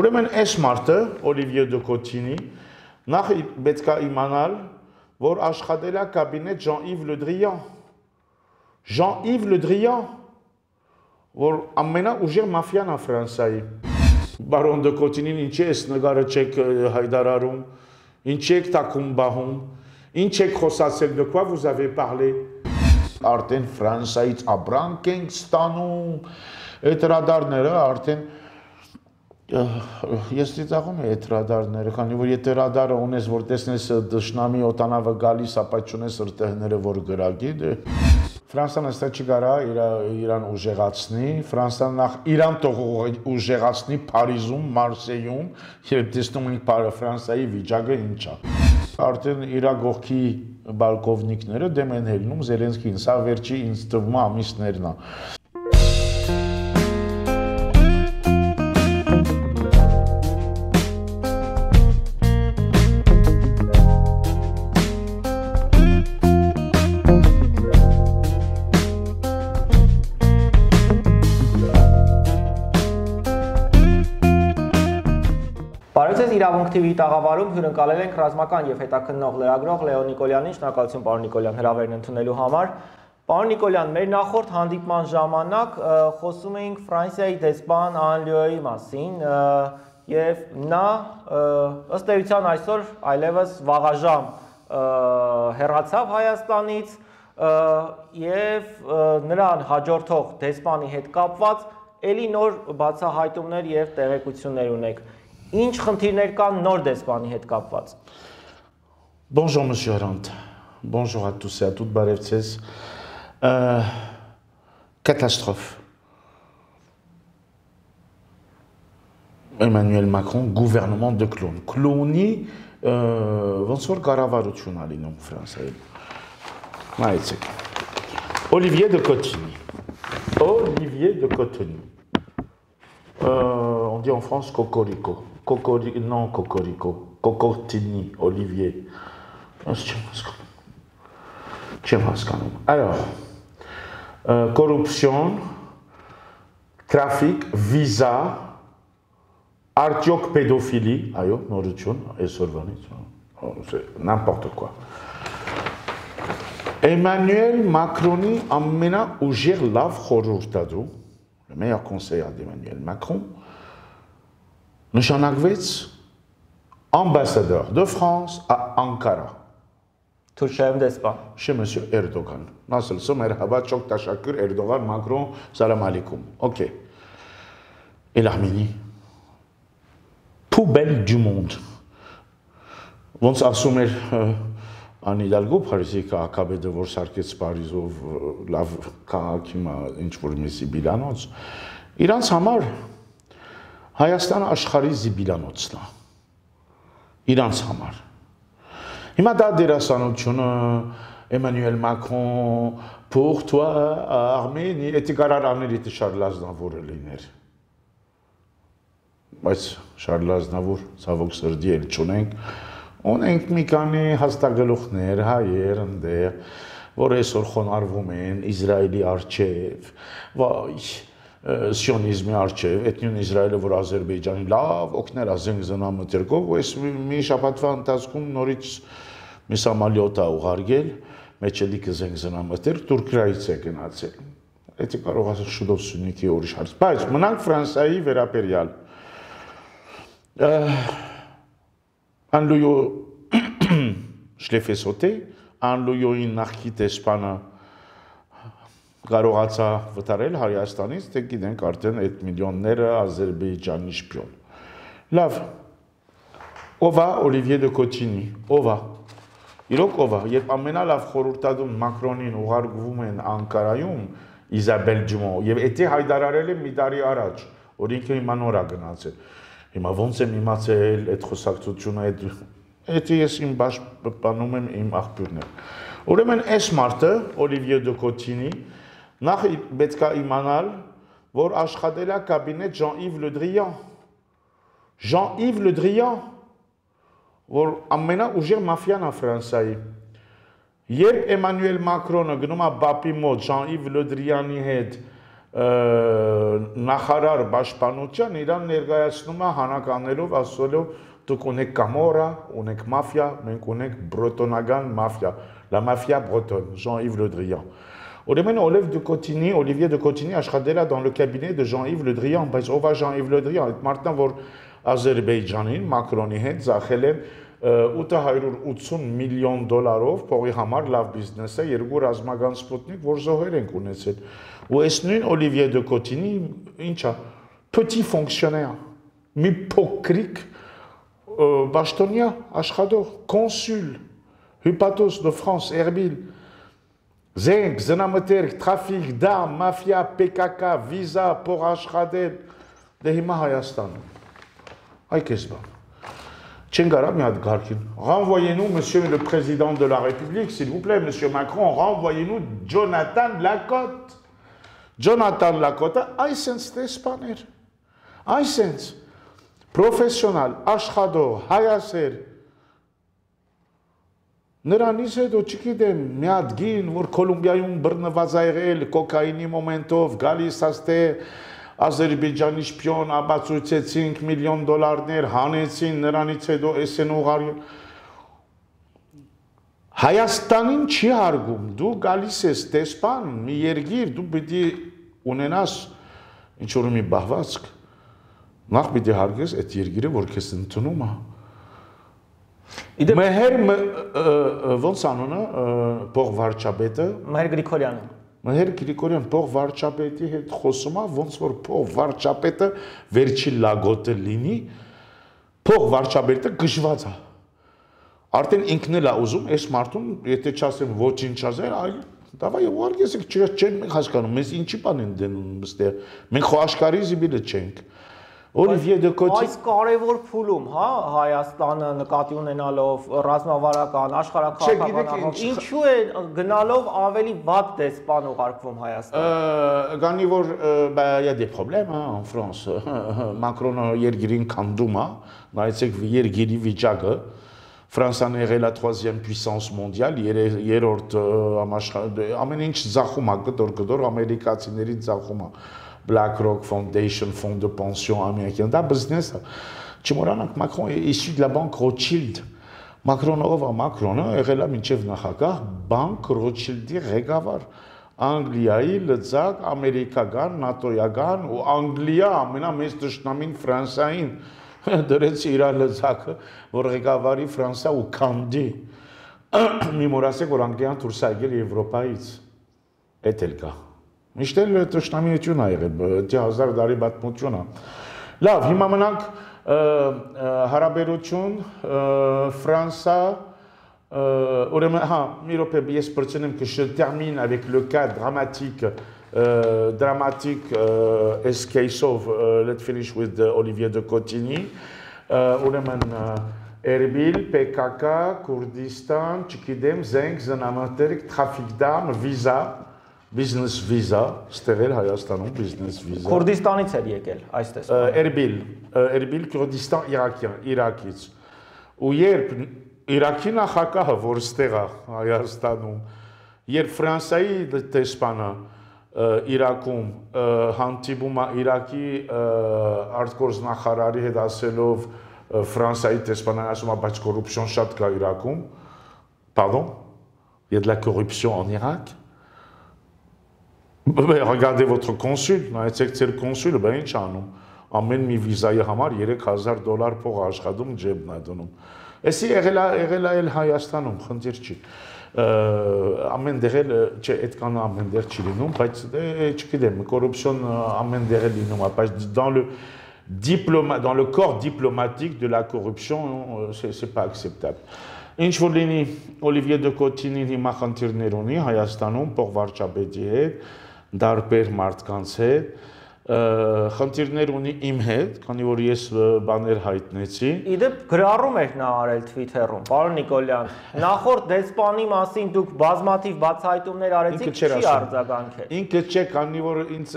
Ուրեմն այս մարդը Օլիվիե դե Կոտինի նախ պետք է իմանալ, որ աշխատել է կաբինետ Jean-Yves Le Drian։ Jean-Yves Le Drian, որ ամենաուժեղ մաֆիան է Ֆրանսիայի։ Բարոն դե Կոտինին ինչի է նկարը չեք հայտարարում, ինչի եք տակում բահում, ինչ եք խոսացել, de quoi vous avez parlé։ Արդեն Ֆրանսիայից ապրանք ենք ստանում, այդ ռադարները արդեն ես ծիծաղում եմ այդ ռադարները, քանի որ եթե ռադարը ունես, որ տեսնես դաշնամի օտանավը գալիս, ապա չունես ըրտեղները, որ գրագի, Ֆրանսիան այստեղ չի կարա իրան ուժեղացնի, Ֆրանսիան նախ իրան թող ուժեղացնի Փարիզում, Մարսեյում, երբ տեսնում ենք Ֆրանսիայի վիճակը ինչ է։ Արդեն իր գողքի բալկովնիկները դեմ են հելնում Զելենսկին, սա վերջի ինձ թվում է ամիսներն է։ Իրավունք TV տաղավարում հյուրընկալել ենք ռազմական եւ հետաքննող լրագրող Լեոն Նիկոլյանին, շնորհակալություն պարոն Նիկոլյան հրավերն ընդունելու համար։ Պարոն Նիկոլյան, մեր նախորդ հանդիպման ժամանակ խոսում էինք Ֆրանսիայի դեսպան Անլյուի մասին եւ նա ըստ էության այսօր այլևս վաղաժամ հեռացավ Հայաստանից եւ նրան հաջորդող դեսպանի հետ կապված ելի նոր բացահայտումներ եւ տեղեկություններ ունեք։ Ինչ խնդիրներ կան նոր դեսպանի հետ կապված։ Bonjour monsieur Arant. Bonjour à tous et à toutes, բարևձեզ։ Catastrophe. Emmanuel Macron, gouvernement de clown. Clowni ոնց որ կառավարություն ա լինում Ֆրանսիայում։ Նայեցեք։ Օլիվիե դե Կոտինի։ Օլիվիե դե Կոտինի։ On dit en France Cocorico. Non, Cocorico. Cocotini, Olivier. Alors, corruption, trafic, visa, artioc pédophilie. Aïe, nourriture, et c'est n'importe quoi. Emmanuel Macron, amena ougir lav khorurtadou. Le meilleur conseiller d'Emmanuel Macron, նշանակվեց ambassadeur de France à Ankara. Թուրքիայում դեսպան։ Chez monsieur Erdogan. Nasıl merhaba, çok teşekkür Erdogan, Macron, salam alaikum. OK. Et l'Arménie? Poubelle du monde. Ոնց ասում էր Ան Հիդալգո Փարիզի քաղաքապետը, որ սարքեց Փարիզով լավ քաղաքի ինչ որ մի զիբիլանոց, իրանց համար Հայաստանը աշխարհի զիբիլանոցն է։ Իրանց համար։ Հիմա դա դերասանությունը Emmanuel Macron pour toi Arménie, էդի կարար աներ իդի Շարլ Ազնավուրը լիներ։ Բայց Շարլ Ազնավուր ցավոք սրտի էլ չունենք։ Ունենք մի քանի հաստատգլուխներ, հայեր ընդեղ, որ այսօր խոնարհվում են Իսրայելի առջև, վայ, սիոնիզմի առջև, այդ նույն Իսրայելը, որ Ադրբեջանի լավ օգներ է զենգզնամթերքով, ու այս մի շաբաթվա ընթացքում նորից մի սամալյոտ է ուղարկել, մեջելիքը զենգզնամթերք Թուրքիայից է գնացել։ Դա կարող է շուտով Սյունիքի ուրիշ հարց, բայց մնանք Ֆրանսիայի վերաբերյալ։ Անլույո շլեֆեսոտե, անլույոյին նախքի դեսպանը կարողացա վտարել Հայաստանից, թե գիտենք արդեն այդ միլիոնները Ադրբեջանի շպիոն։ Լավ, ով է Օլիվիե դե Կոտինի, ով է։ Իրոք ով է, երբ ամենալավ խորհրդատում Մակրոնին ուղարկվում են Անկարայում Իզաբել Ջումո, եւ էդի հայտարարել է մի տարի առաջ, որ ինքը հիմա նոր է գնացել։ Հիմա ոնց եմ իմացել այդ խոսակցությունը, այդ ես իմ պաշտպանում եմ իմ աղբյուրներ։ Ուրեմն այս մարդը Օլիվիե դե Կոտինի նախ պետք է իմանալ, որ աշխատել է կաբինետ Jean-Yves Le Drian։ Jean-Yves Le Drian, որ ամենաուժեղ մաֆիան է Ֆրանսիայի։ Երբ Էմանուել Մակրոնը գնում է Բապի մոտ Jean-Yves Le Drian-ի հետ նախարար պաշտպանության իրան ներկայացնում է հանականներով ասելով դուք ունեք կամորա, ունեք մաֆիա, մենք ունենք բրոտոնական մաֆիա, la mafia bretonne, Jean-Yves Le Drian. Ուրեմն Olivier de Cotigny աշխատել է dans le cabinet de Jean-Yves Le Drian, բայց ով է Jean-Yves Le Drian, այդ մարդն որ Ադրբեջանին Մակրոնի հետ ծախել են $880 միլիոն փողի համար լավ բիզնես է, երկու ռազմական սպուտնիկ, որ զոհեր ենք ունեցել։ Ու այս նույն Olivier de Cotigny, ինչ է, petit fonctionnaire, մի փոքրիկ Bastoniya, աշխատող, կոնսուլ, Hypatos de France, Erbil, Zeng, Znamterk, trafic, d'armes, mafia, PKK, visa, pour աշխատել, դե հիմա Հայաստանում։ Այ քեզ բան։ Չեն գարա մի հատ գարքին։ Renvoyez-nous, monsieur le président de la République, s'il vous plaît, monsieur Macron, renvoyez-nous Jonathan Lacotte։ Jonathan Lacotte, այսենց տեսպաներ, այսենց պրոֆեսիոնալ, աշխատող, հայասեր, նրանից հետո չգիտեմ, մի հատ գին, որ Կոլումբիայում բռնված ա եղել, կոկայինի մոմենտով, գալիս աստե Ադրբեջանի շպիոն, ապացույցեցին $1 միլիոն, հանեցին, նրանից հետո էսեն ուղարյուն։ Հայաստանին չի հարգում, դու գալիս ես տեսպան, մի երգիր, դու պիտի ունենաս ինչ-որ մի բահվածք, նախ պիտի հարգես այդ երգիրը, որ քեզ ընդունում է։ Մեհեր ոնց անունը փող վարչապետը Մեհեր Գրիգորյանը Մեհեր Գրիգորյան փող վարչապետի հետ խոսում է ոնց որ փող վարչապետը վերջի լագոտը լինի փող վարչապետը գժված է արդեն ինքն էլ է ուզում այս մարդուն եթե չասեմ ոչինչ ասել այ դավայ ուղարկես չեն հասկանում մեզ ինչի բան են դնում այստեղ մենք խո աշխարհի զիբիլը չենք Olivier de Cotigny Այս կարևոր փուլում, հա, Հայաստանը նկատի ունենալով ռազմավարական, աշխարհակաղակական, ինչու է գնալով ավելի վատ դեսպան ուղարկվում Հայաստան։ Գանի որ il y a des problèmes en France. Macron-ը երգիրին քանդում է, նայեցեք երգիրի վիճակը։ Ֆրանսիան եղել է 3e puissance mondiale, երրորդ ամեն ինչ ծախում է, գդոր ամերիկացիների ծախում է։ BlackRock Foundation, fonds de pension américain, դա business է։ Չմոռանանք Macron est issu de la banque Rothschild։ Macron-ը ով է Macron-ը եղել է մինչև նախագահ բանկ Rothschild-ի ղեկավար։ Անգլիայի լծակ ամերիկական, նատոյական ու Անգլիա ամենամեծ դաշնամին Ֆրանսիային դրեց իր լծակը, որ ղեկավարի Ֆրանսիա ու Կանդի։ Մի մոռացեք, որ Անգլիան դուրս է եկել Եվրոպայից։ Էդ էլ կա։ Միշտ էլ տշնամիություն է եղել, 1000 տարի պատմություն է։ Լավ, հիմա մնանք հարաբերություն Ֆրանսա, ուրեմն, հա, մի րոպե ես բրցնեմ que je termine avec le cas dramatique as case of let's finish with Olivier de Cotigny. Ուրեմն Erbil, PKK, Kurdistan, չգիտեմ, Zeng, Znamterk, trafic d'armes, visa Business visa, ստեղել Հայաստանում business visa։ Քուրդիստանից էր եկել, այս տեսակ։ Erbil, Kurdistan, Իրաքից։ Ու երբ Իրաքի նախագահը, որ ստեղ է Հայաստանում, երբ Ֆրանսիայի տեսփանը Իրաքում հանդիպում է Իրաքի արտգործնախարարի հետ ասելով Ֆրանսիայի տեսփանը ասում է, բայց կոռուպցիոն շատ կա Իրաքում։ Pardon? Il y a de la corruption en Irak? Regardez votre consul, նայեցեք ձեր կոնսուլը, բա ինչ անում։ Ամեն մի վիզայի համար $3000 փող աշխատում ջեբն է դնում։ Էսի եղել է Հայաստանում, խնդիր չի։ Ամեն դեղ էլ, չէ, այդքան ամեն դեղ չի լինում, բայց չգիտեմ, կոռուպցիոն ամեն դեղ է լինում, բայց dans le corps diplomatique de la corruption, c'est pas acceptable. Ինչ որ լինի Olivier de Cotigny հիմա խնդիրներ ունի Հայաստանում փող վարչապետի հետ դարբեր մարդկանց հետ խնդիրներ ունի իմ հետ, քանի որ ես բաներ հայտնեցի։ Իդեպ գրառում եք նա արել Twitter-ում, պարոն Նիկոլյան, նախորդ դեսպանի մասին դուք բազմաթիվ բացահայտումներ արեցիք, չի արձագանքել։ Ինքը չէ, քանի որ ինձ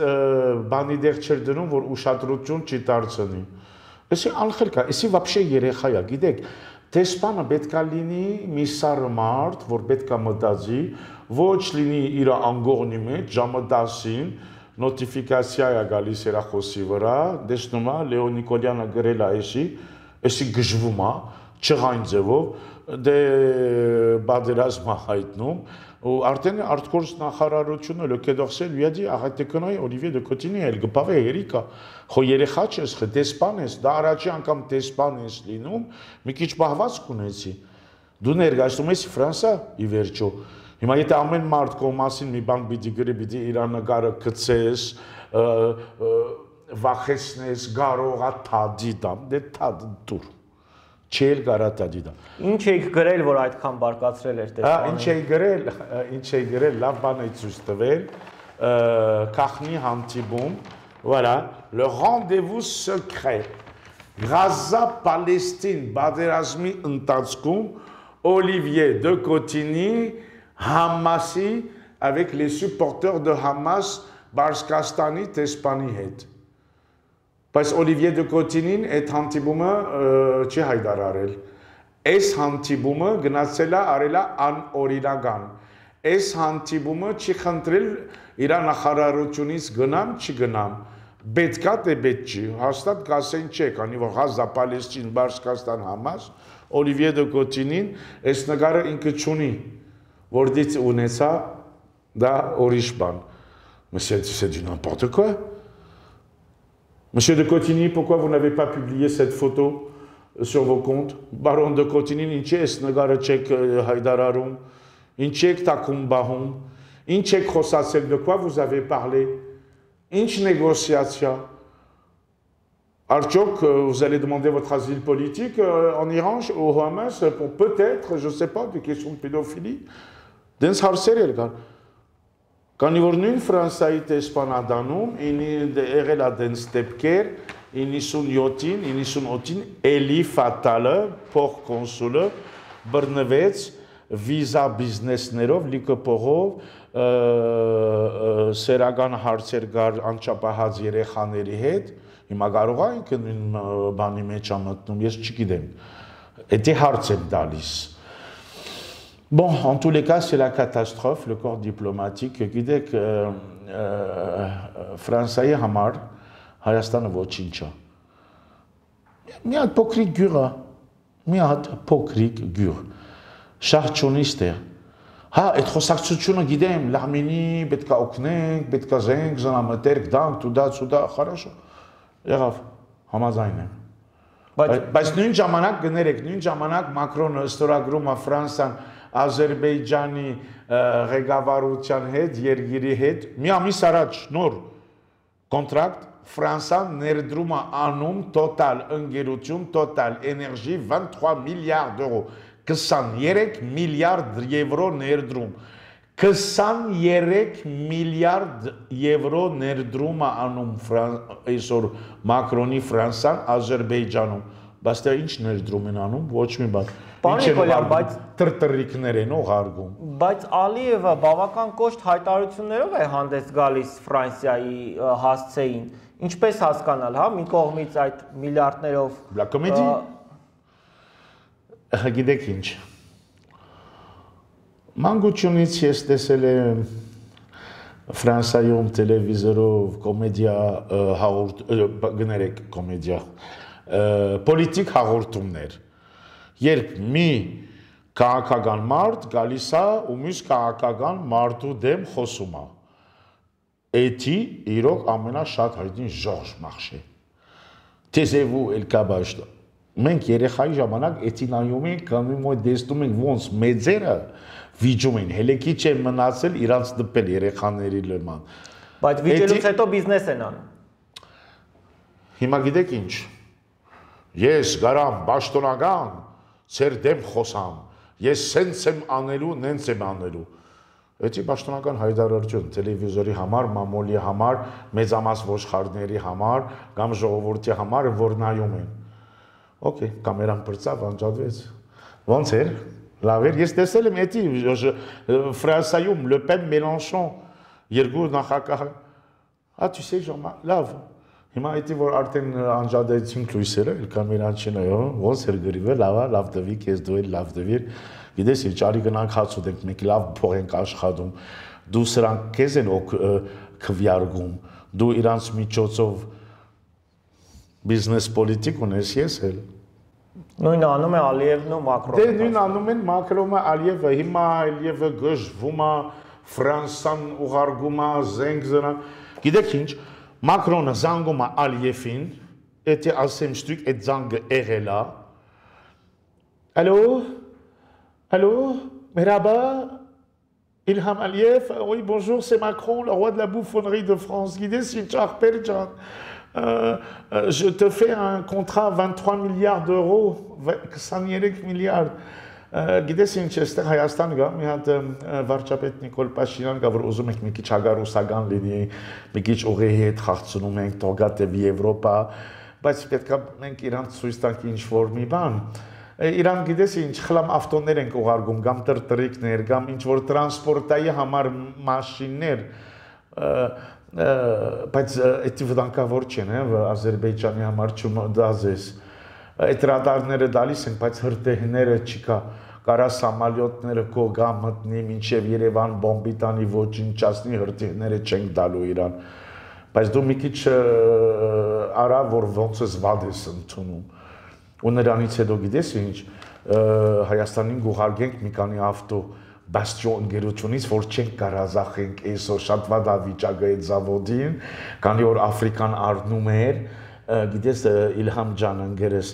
բանի դեղ չէր դնում, որ ուշադրություն չի դարձնի։ Էսի անխել կա, էսի вообще երեխա է, գիտեք, դեսպանը պետքա լինի մի սառը մարդ, որ պետքա մտածի, ոչ լինի իր անգողնի մեջ ժամը 10-ին, նոտիֆիկացիա է գալիս հեռախոսի վրա, տեսնում է Լեոն Նիկոլյանը գրել է էսի գժվում է, չղայն ձևով, դե բادرազմ հայտնում, ու արդեն արտգործ նախարարությունը լոկեդորսել վիադի աղետեկնոյ Օլիվիե դե Կոտինի էլ գպավե երիկա, խո երեխա չես, խ դեսպան ես, դա առաջի անգամ դեսպան ես լինում, մի քիչ պահվածք ունեցի, դու ներկայացնում ես Ֆրանսա ի վերջո, հիմա եթե ամեն մարդ քո մասին մի բան պիտի գրի, պիտի իր նկարը գցես, վախեցնես, գարողա թադի դամ, դե թադ դուր Չել կարա դիդա։ Ինչ եք գրել, որ այդքան բարկացրել էր տեսանը։ Ինչ էի գրել, լավ բան էի ցույց տվել, քախնի հանդիպում, voilà, le rendez-vous secret, Gaza-Palestine բادرազմի ընթացքում Olivier de Cotigny, Hamasի, avec les supporters de Hamas, Բարսկաստանի տեսփանի հետ։ Բայց Օլիվիե դե Կոտինին այդ հանդիպումը չի հայտարարել։ Այս հանդիպումը գնացել է արել է անօրինական։ Այս հանդիպումը չի խնդրել իր նախարարությունից գնամ, չգնամ։ Պետքա թե պետք չի, հաստատ կասեն չէ, քանի որ Gaza-Palestine, Բարսկաստան, Hamas, Օլիվիե դե Կոտինին այս նկարը ինքը չունի, որից ունեցա դա ուրիշ բան։ C'est du n'importe quoi. Monsieur de Cotigny, pourquoi vous n'avez pas publié cette photo sur vos comptes? Baron de Cotigny, inchek nagarachek haydararum, inchek takumbahum, inchek khosasel, de quoi vous avez parlé? Inch négociation. Archok, vous allez demander votre asile politique en Iran, au Hamas, pour peut-être, je ne sais pas, des questions de pédophilie. Dens harser, Քանի որ նույն Ֆրանսիայի տեսփանադանում եղել է դեն ստեպքեր 97-ին, 98-ին Էլի Ֆատալը, փոխկոնսուլը բռնվեց վիզա բիզնեսներով, լիքը փողով սերական հարցեր գար անչափահաս երեխաների հետ, հիմա կարող է ինքը նույն բանի մեջ ամտնում, ես չգիտեմ, դա հարց եմ տալիս Bon, en tous les cas, c'est la catastrophe, le corps diplomatique. Գիտեք, Ֆրանսիայի համար Հայաստանը ոչինչ է։ Մի հատ փոքրիկ գյուղ է, մի հատ փոքրիկ գյուղ։ Շահ չունի ստեղ։ Հա, այդ խոսակցությունը գիտեմ, լամինի պետքա օգնենք, պետքա զենք, զնամտերք, դանք, տուդա, хорошо։ Եղավ, համաձայն եմ։ Բայց նույն ժամանակ գներեք, նույն ժամանակ Մակրոնը ստորագրում է Ֆրանսիան Ադրբեջանի ղեկավարության հետ, երկիրի հետ, մի ամիս առաջ նոր կոնտրակտ Ֆրանսիան ներդրում է անում տոտալ ընկերություն, տոտալ էներգի 23 միլիարդ դրամ, 23 միլիարդ եվրո ներդրում, 23 միլիարդ եվրո ներդրում է անում այսօր Մակրոնի Ֆրանսիան Ադրբեջանում, բայց դա ինչ ներդրում են անում, ոչ մի բան Պարոն Նիկոլյան, բայց տրտրիկներ են ուղարկում։ Բայց Ալիևը բավական կոշտ հայտարարություններով է հանդես գալիս Ֆրանսիայի հասցեին։ Ինչպես հասկանալ, հա, մի կողմից այդ միլիարդներով La comédie։ Գիտեք ինչ։ Մանկությունից ես տեսել եմ Ֆրանսիայում տելևիզորով կոմեդիա գներեք կոմեդիա պոլիտիկ հաղորդումներ Երբ մի քաղաքական մարդ գալիս է ու մյուս քաղաքական մարդու դեմ խոսում է։ Էդի իրոք ամենաշատ հայտնի Ժորժ Մախշե։ Տեսեվու էլ կաբաշտը։ Մենք երեխայի ժամանակ էդի նայում ենք, կամ մոտ տեսնում ենք ոնց մեծերը վիճում են, հելեքի չեն մնացել իրանց դպել երեխաների լման։ Բայց վիճելուց հետո բիզնես են անում։ Հիմա գիտեք ինչ։ Ես գարամ պաշտոնական Ձեր դեմ խոսամ, ես սենց եմ անելու, նենց եմ անելու։ Էդի պաշտոնական հայտարարություն տելևիզորի համար, մամոլի համար, մեծամաս ոչխարների համար, կամ ժողովրդի համար, որ նայում են։ Okay, կամերան բրծավ, անջատվեց։ Ոնց էր։ Լավ էր, ես տեսել եմ էդի Ֆրանսիայում Le Pen Mélenchon երկու նախագահ։ Ah, tu sais, Jean-Marc, լավ։ Հիմա էդի որ արդեն անջատեցինք լույսերը, էլ կամերան չնայո, ոնց էր գրիվը, լավ տվի, քեզ դու էլ լավ տվիր։ Գիտես, ինչ արի գնանք հաց ուտենք, մենք լավ փող ենք աշխատում։ Դու սրանք քեզ են քվյարկում, դու իրանց միջոցով բիզնես պոլիտիկ ունես, ես էլ։ Նույնը անում է Ալիևն ու Մակրոնը։ Դե նույն անում են Մակրոնը, Ալիևը, հիմա Ալիևը գժվում է, Ֆրանսան ուղարկում է, զենք զրան։ Գիտեք ինչ, Մակրոնը զանգում է Ալիևին, եթե ասեմ շտույկ, այդ զանգը եղել է։ Allô? Allô? Merhaba? Ilham Aliyev? Oui, bonjour, c'est Macron, le roi de la bouffonnerie de France. Guidé, je te fais un contrat 23 milliards d'euros, 23 milliards. Գիտես ինչ էստեղ Հայաստան գա, մի հատ վարչապետ Նիկոլ Փաշինյան գա, որ ուզում ենք մի քիչ հագարուսական լինի, մի քիչ ուղիի հետ խաղցնում ենք, թողատևի Եվրոպա, բայց պետք է մենք իրանց ցույց տանք ինչ-որ մի բան։ Իրան գիտես ինչ խլամ ավտոներ ենք ուղարկում, կամ տրտրիկներ, կամ ինչ-որ տրանսպորտայի համար մաշիններ, բայց էդի վտանգավոր չեն, Ադրբեջանի համար չդազես։ Այդ ռադարները դալիս են, բայց հրտեհները չկա, կարա սամալյոտները կո գա մտնի, մինչև Երևան բոմբի տանի ոչնչացնի, հրտեհները չենք դալու իրան, բայց դու մի քիչ արա, որ ոնց ես վատ ես ընդունում, ու նրանից հետո գիտես ինչ, Հայաստանին գուղարգենք մի քանի ավտո բաստիոն ընկերությունից, որ չենք կարազախենք այսօր շատ վատ վիճակը այդ զավոդին, քանի որ Աֆրիկան առնում էր, գիտես Իլհամ ջան ընկերս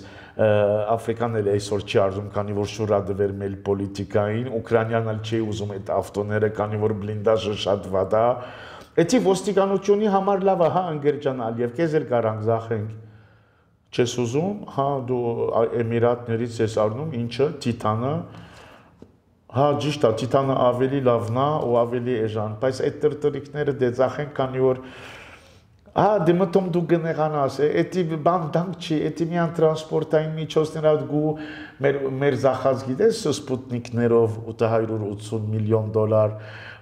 Աֆրիկան էլ այսօր չի արժում, քանի որ շուրադվեր մեր պոլիտիկային, Ուկրաինան էլ չի ուզում այդ ավտոները, քանի որ բլինդաժը շատ վատ է։ Էդի ոստիկանությունի համար լավ է, հա ընկեր ջան Ալիև, քեզ էլ կարանք զախենք։ Չես ուզում, հա դու Էմիրատներից ես առնում, ինչը Տիտանը, հա ճիշտ է, Տիտանը ավելի լավն է ու ավելի էժան, բայց այդ տրտրիկները դե զախենք, քանի որ դե մտում դու գնեղանաս, էդի բան դանք չի, էդի միան տրանսպորտային միջոցները գու մեր զախած գիտես սպուտնիկներով 880 միլիոն դոլար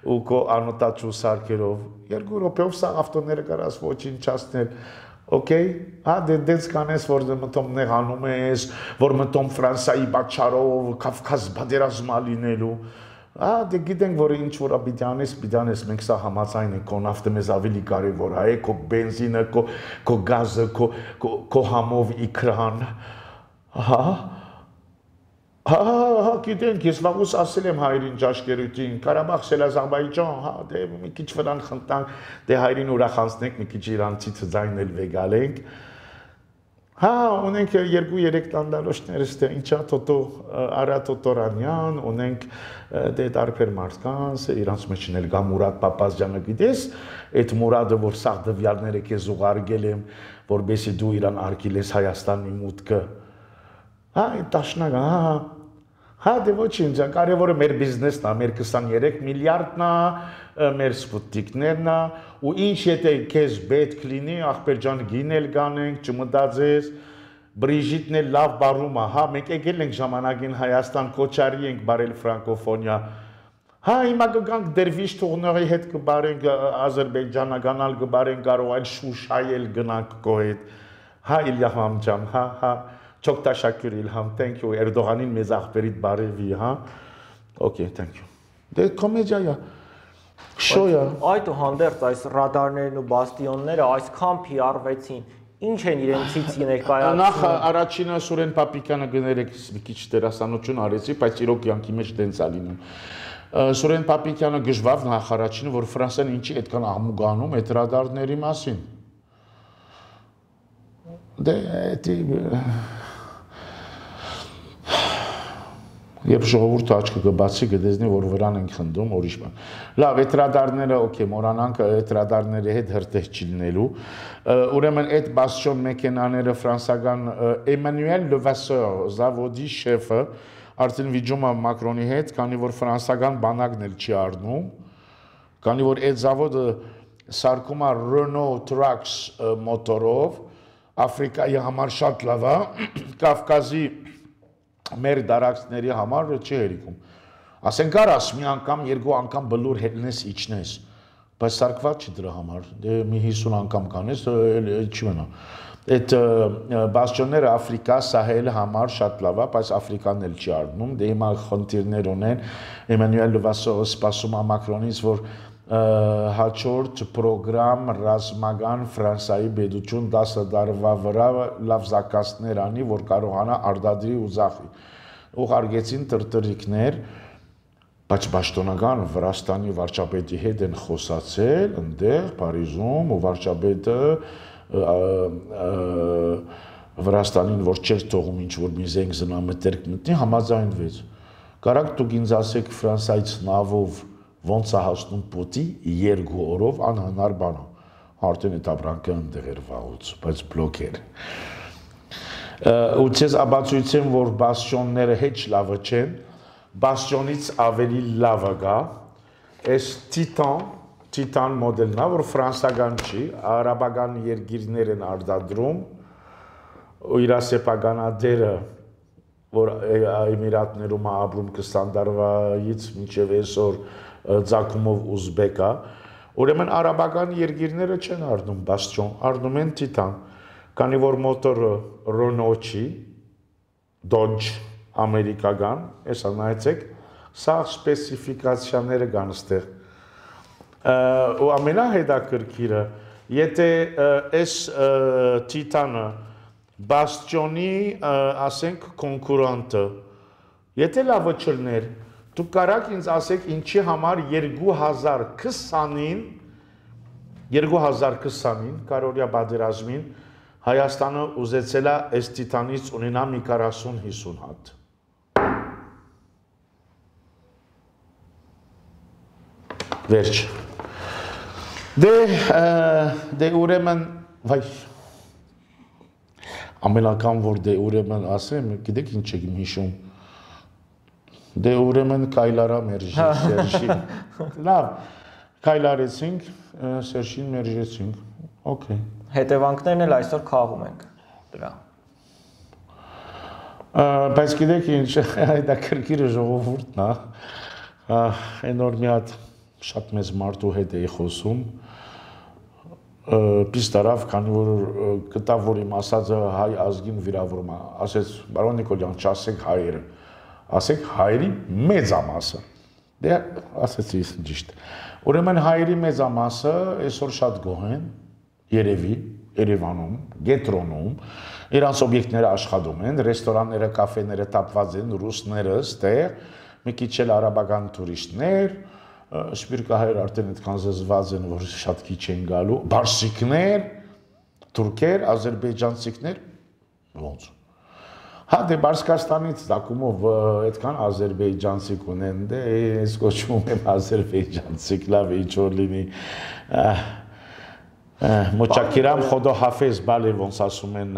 ու կո անոտաչու սարքերով, 2 րոպեով սա ավտոները կարաս ոչնչացնել, օքեյ, դե դենց կանես, որ մտում նեղանում ես, որ մտում Ֆրանսայի բաչարով, Կավկազ բادرազմա լինելու, դե գիտենք, որ ինչ որ պիտանես, մենք սա համաձայն ենք, քո նավթը մեզ ավելի կարևոր է, քո բենզինը, քո գազը, քո համով իքրան, գիտենք, ես վաղուց ասել եմ հայրին ճաշկերուտին, Կարաբաղ Սելազարբայջան, դե մի քիչ վրան խնդանք, դե հայրին ուրախացնենք, մի քիչ իրանցից ձայնել վեգալենք, ունենք 2-3 տանդալոշներ, ինչա Տոտո Արա Տոտորանյան, ունենք դե տարբեր մարդկանց, իրանց մեջ էլ գա Մուրադ Պապազյանը գիտես, այդ Մուրադը, որ սաղ դվյալները քեզ ուղարկել եմ, որբեսի դու իրան արգիլես Հայաստանի մուտքը, այդ տաշնակ, դե ոչինչ, կարևորը մեր բիզնեսն է, մեր 23 միլիարդն է, մեր սպուտիկներն է, ու ինչ եթե քեզ պետք լինի, ախպեր ջան գինել գանենք, չմտածես, Բրիժիտն էլ լավ բարում է, մենք եկել ենք ժամանակին Հայաստան, կոչարի ենք բարել ֆրանկոֆոնիա, հիմա կգանք դերվիշ թողնողի հետ կբարենք Ադրբեջանը, գանալ կբարենք կարող այլ Շուշայել գնանք կո հետ, Իլհամ ջան, Çok teşekkür İlham, thank you, Erdoğan'ın մեզ ախպերիդ բարևի, Okay, thank you. Դե կոմեդիա է, շոյ է։ Այդուհանդերձ այս ռադարներն ու բաստիոնները այսքան PR-վեցին, ինչ են իրենցից ներկայացնում։ Նախ առաջինը Սուրեն Պապիկյանը գներեք մի քիչ դերասանություն արեցի, բայց իրոք յանքի մեջ դենց է լինում։ Սուրեն Պապիկյանը գժվավ նախ առաջինը, որ Ֆրանսիան ինչի այդքան աղմուկանում այդ ռադարների մասին։ Դե Երբ ժողովուրդը աչքը կբացի կտեսնի, որ վրան ենք խնդում, ուրիշ բան։ Լավ, այդ ռադարները, օքեյ, մոռանանք այդ ռադարների հետ հրտեհ չի լինելու։ Ուրեմն այդ բաստիոն մեքենաները ֆրանսական Էմանուել Լևասեր, զավոդի շեֆը, արդեն վիճում է Մակրոնի հետ, քանի որ ֆրանսական բանակն էլ չի առնում, քանի որ այդ զավոդը սարքում է Renault Trucks մոտորով, Աֆրիկայի համար շատ լավ է, Կավկազի մեր դարակցների համար չի հերիքում։ Ասենք կարաս մի անգամ, 2 անգամ բլուր հետնես իջնես, բայց սարկված չի դրա համար, դե մի 50 անգամ կանես, չի մնա։ Այդ բաստիոնները Աֆրիկա, Սահել համար շատ լավ է, բայց Աֆրիկան էլ չի առնում, դե հիմա խնդիրներ ունեն, Էմանուել Լևասերը սպասում է Մակրոնից, որ հաջորդ պրոգրամ ռազմական Ֆրանսիայի պետություն 10 տարվա վրա լավ զակացներ անի, որ կարողանա արդադրի ու զախի։ Ուղարկեցին տրտրիկներ, բայց պաշտոնական Վրաստանի վարչապետի հետ են խոսացել, ընդեղ Փարիզում ու վարչապետը Վրաստանին, որ չէր թողում ինչ-որ մի զենք զնամետերք մտնի, համաձայնվեց։ Կարաք դուք ինձ ասեք Ֆրանսիայից նավով ոնց է հասնում պոտի 2 օրով անհնար բան է։ Արդեն այդ ապրանքը ընդեղ էր վաղուց, բայց բլոկ էր։ Ու ցես աբացույցեմ, որ բաստիոնները հեչ լավը չեն, բաստիոնից ավելի լավը գա, այս Titan մոդելն է, որ ֆրանսական չի, արաբական երկիրներ են արտադրում, ու իր սեփականատերը որ Էմիրատներում ապրում 20 տարվայից մինչև այսօր ձակումով ուզբեկա, ուրեմն արաբական երկիրները չեն առնում բաստիոն, առնում են Titan, քանի որ մոտորը Renault չի, Dodge ամերիկական, հեսա նայեցեք, սա սպեսիֆիկացիաները կան ստեղ։ Ու ամենահետաքրքիրը, եթե այս Titan-ը բաստիոնի, ասենք, կոնկուրանտը, եթե լավը չլներ, դուք կարաք ինձ ասեք ինչի համար 2020-ին, կարորյա բادرազմին, Հայաստանը ուզեցել է այս Titan-ից ունենա մի 40-50 հատ։ Վերջ։ Դե ուրեմն, վայ, ամենական որ դե ուրեմն ասեմ, գիտեք ինչ եք հիշում, դե ուրեմն կայլարա մերժի, լավ, կայլարեցինք, Սերժին մերժեցինք, օքեյ։ Հետևանքներն էլ այսօր քաղում ենք դրա։ Բայց գիտեք ինչ, դա քրքիրը ժողովուրդն է, այնօր մի հատ շատ մեծ մարդու հետ էի խոսում, պիստարավ, քանի որ գտավ, որ իմ ասածը հայ ազգին վիրավորում է, ասեց, բարոն Նիկոլյան, չասեք հայերը, ասեք հայերի մեծամասը, դե ասեցի ճիշտ, ուրեմն հայերի մեծամասը այսօր շատ գոհ են, երևի, Երևանում, Գետրոնում, իրանց օբյեկտները աշխատում են, ռեստորանները, կաֆեները տապված են, ռուսները ստեղ, մի քիչ էլ արաբական տուրիստներ, սպիրկահայեր արդեն այդքան զզված են, որ շատ քիչ են գալու, բարսիկներ, թուրքեր, ազերբայջանցիքներ, ոնց։ Հա, դե Բարսկաստանից դակումով այդքան ազերբայջանցիք ունեն, դե ես կոչվում եմ ազերբայջանցիք, լավ ինչ որ լինի, Մոչակիրամ խոդո հաֆեզ բալի ոնց ասում են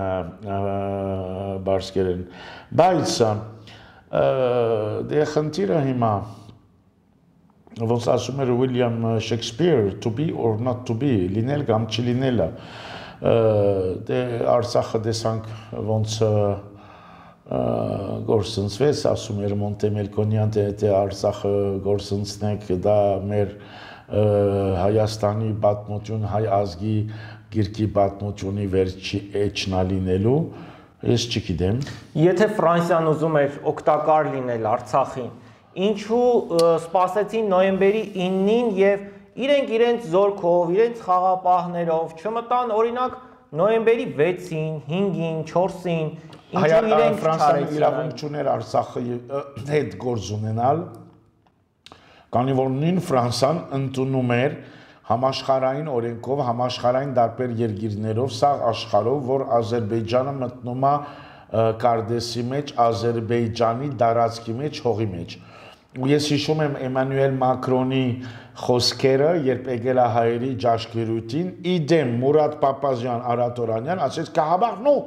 բարսկերեն, բայց դե խնդիրը հիմա ոնց ասում էր Ուիլյամ Շեքսպիր, to be or not to be, լինել կամ չլինելը, դե Արցախը տեսանք ոնց գործընծվեց, ասում էր Մոնտեմելկոնյան, թե Արցախը գործընծնենք, դա մեր Հայաստանի պատմություն, հայ ազգի գիրքի պատմությունի վերջի էջնա լինելու, ես չգիտեմ։ Եթե Ֆրանսիան ուզում էր օգտակար լինել Արցախին, ինչու սպասեցին նոյեմբերի 9-ին եւ իրենց զորքով, իրենց խաղապահներով չմտան օրինակ նոյեմբերի 6-ին, 5-ին, 4-ին, ինչու իրենք Ֆրանսիան իրավունք չուներ Արցախի հետ գործ ունենալ, քանի որ նույն Ֆրանսիան ընդունում էր համաշխարհային օրենքով, համաշխարհային տարբեր երկիրներով, սաղ աշխարհով, որ Ադրբեջանը մտնում է կարդեսի մեջ, Ադրբեջանի տարածքի մեջ, հողի մեջ։ Ու ես հիշում եմ Էմանուել Մակրոնի խոսքերը, երբ եկել է հայերի ճաշկերույթին, իդեմ Մուրադ Պապազյան, Արաթորանյան, ասեց Ղարաբաղ, non,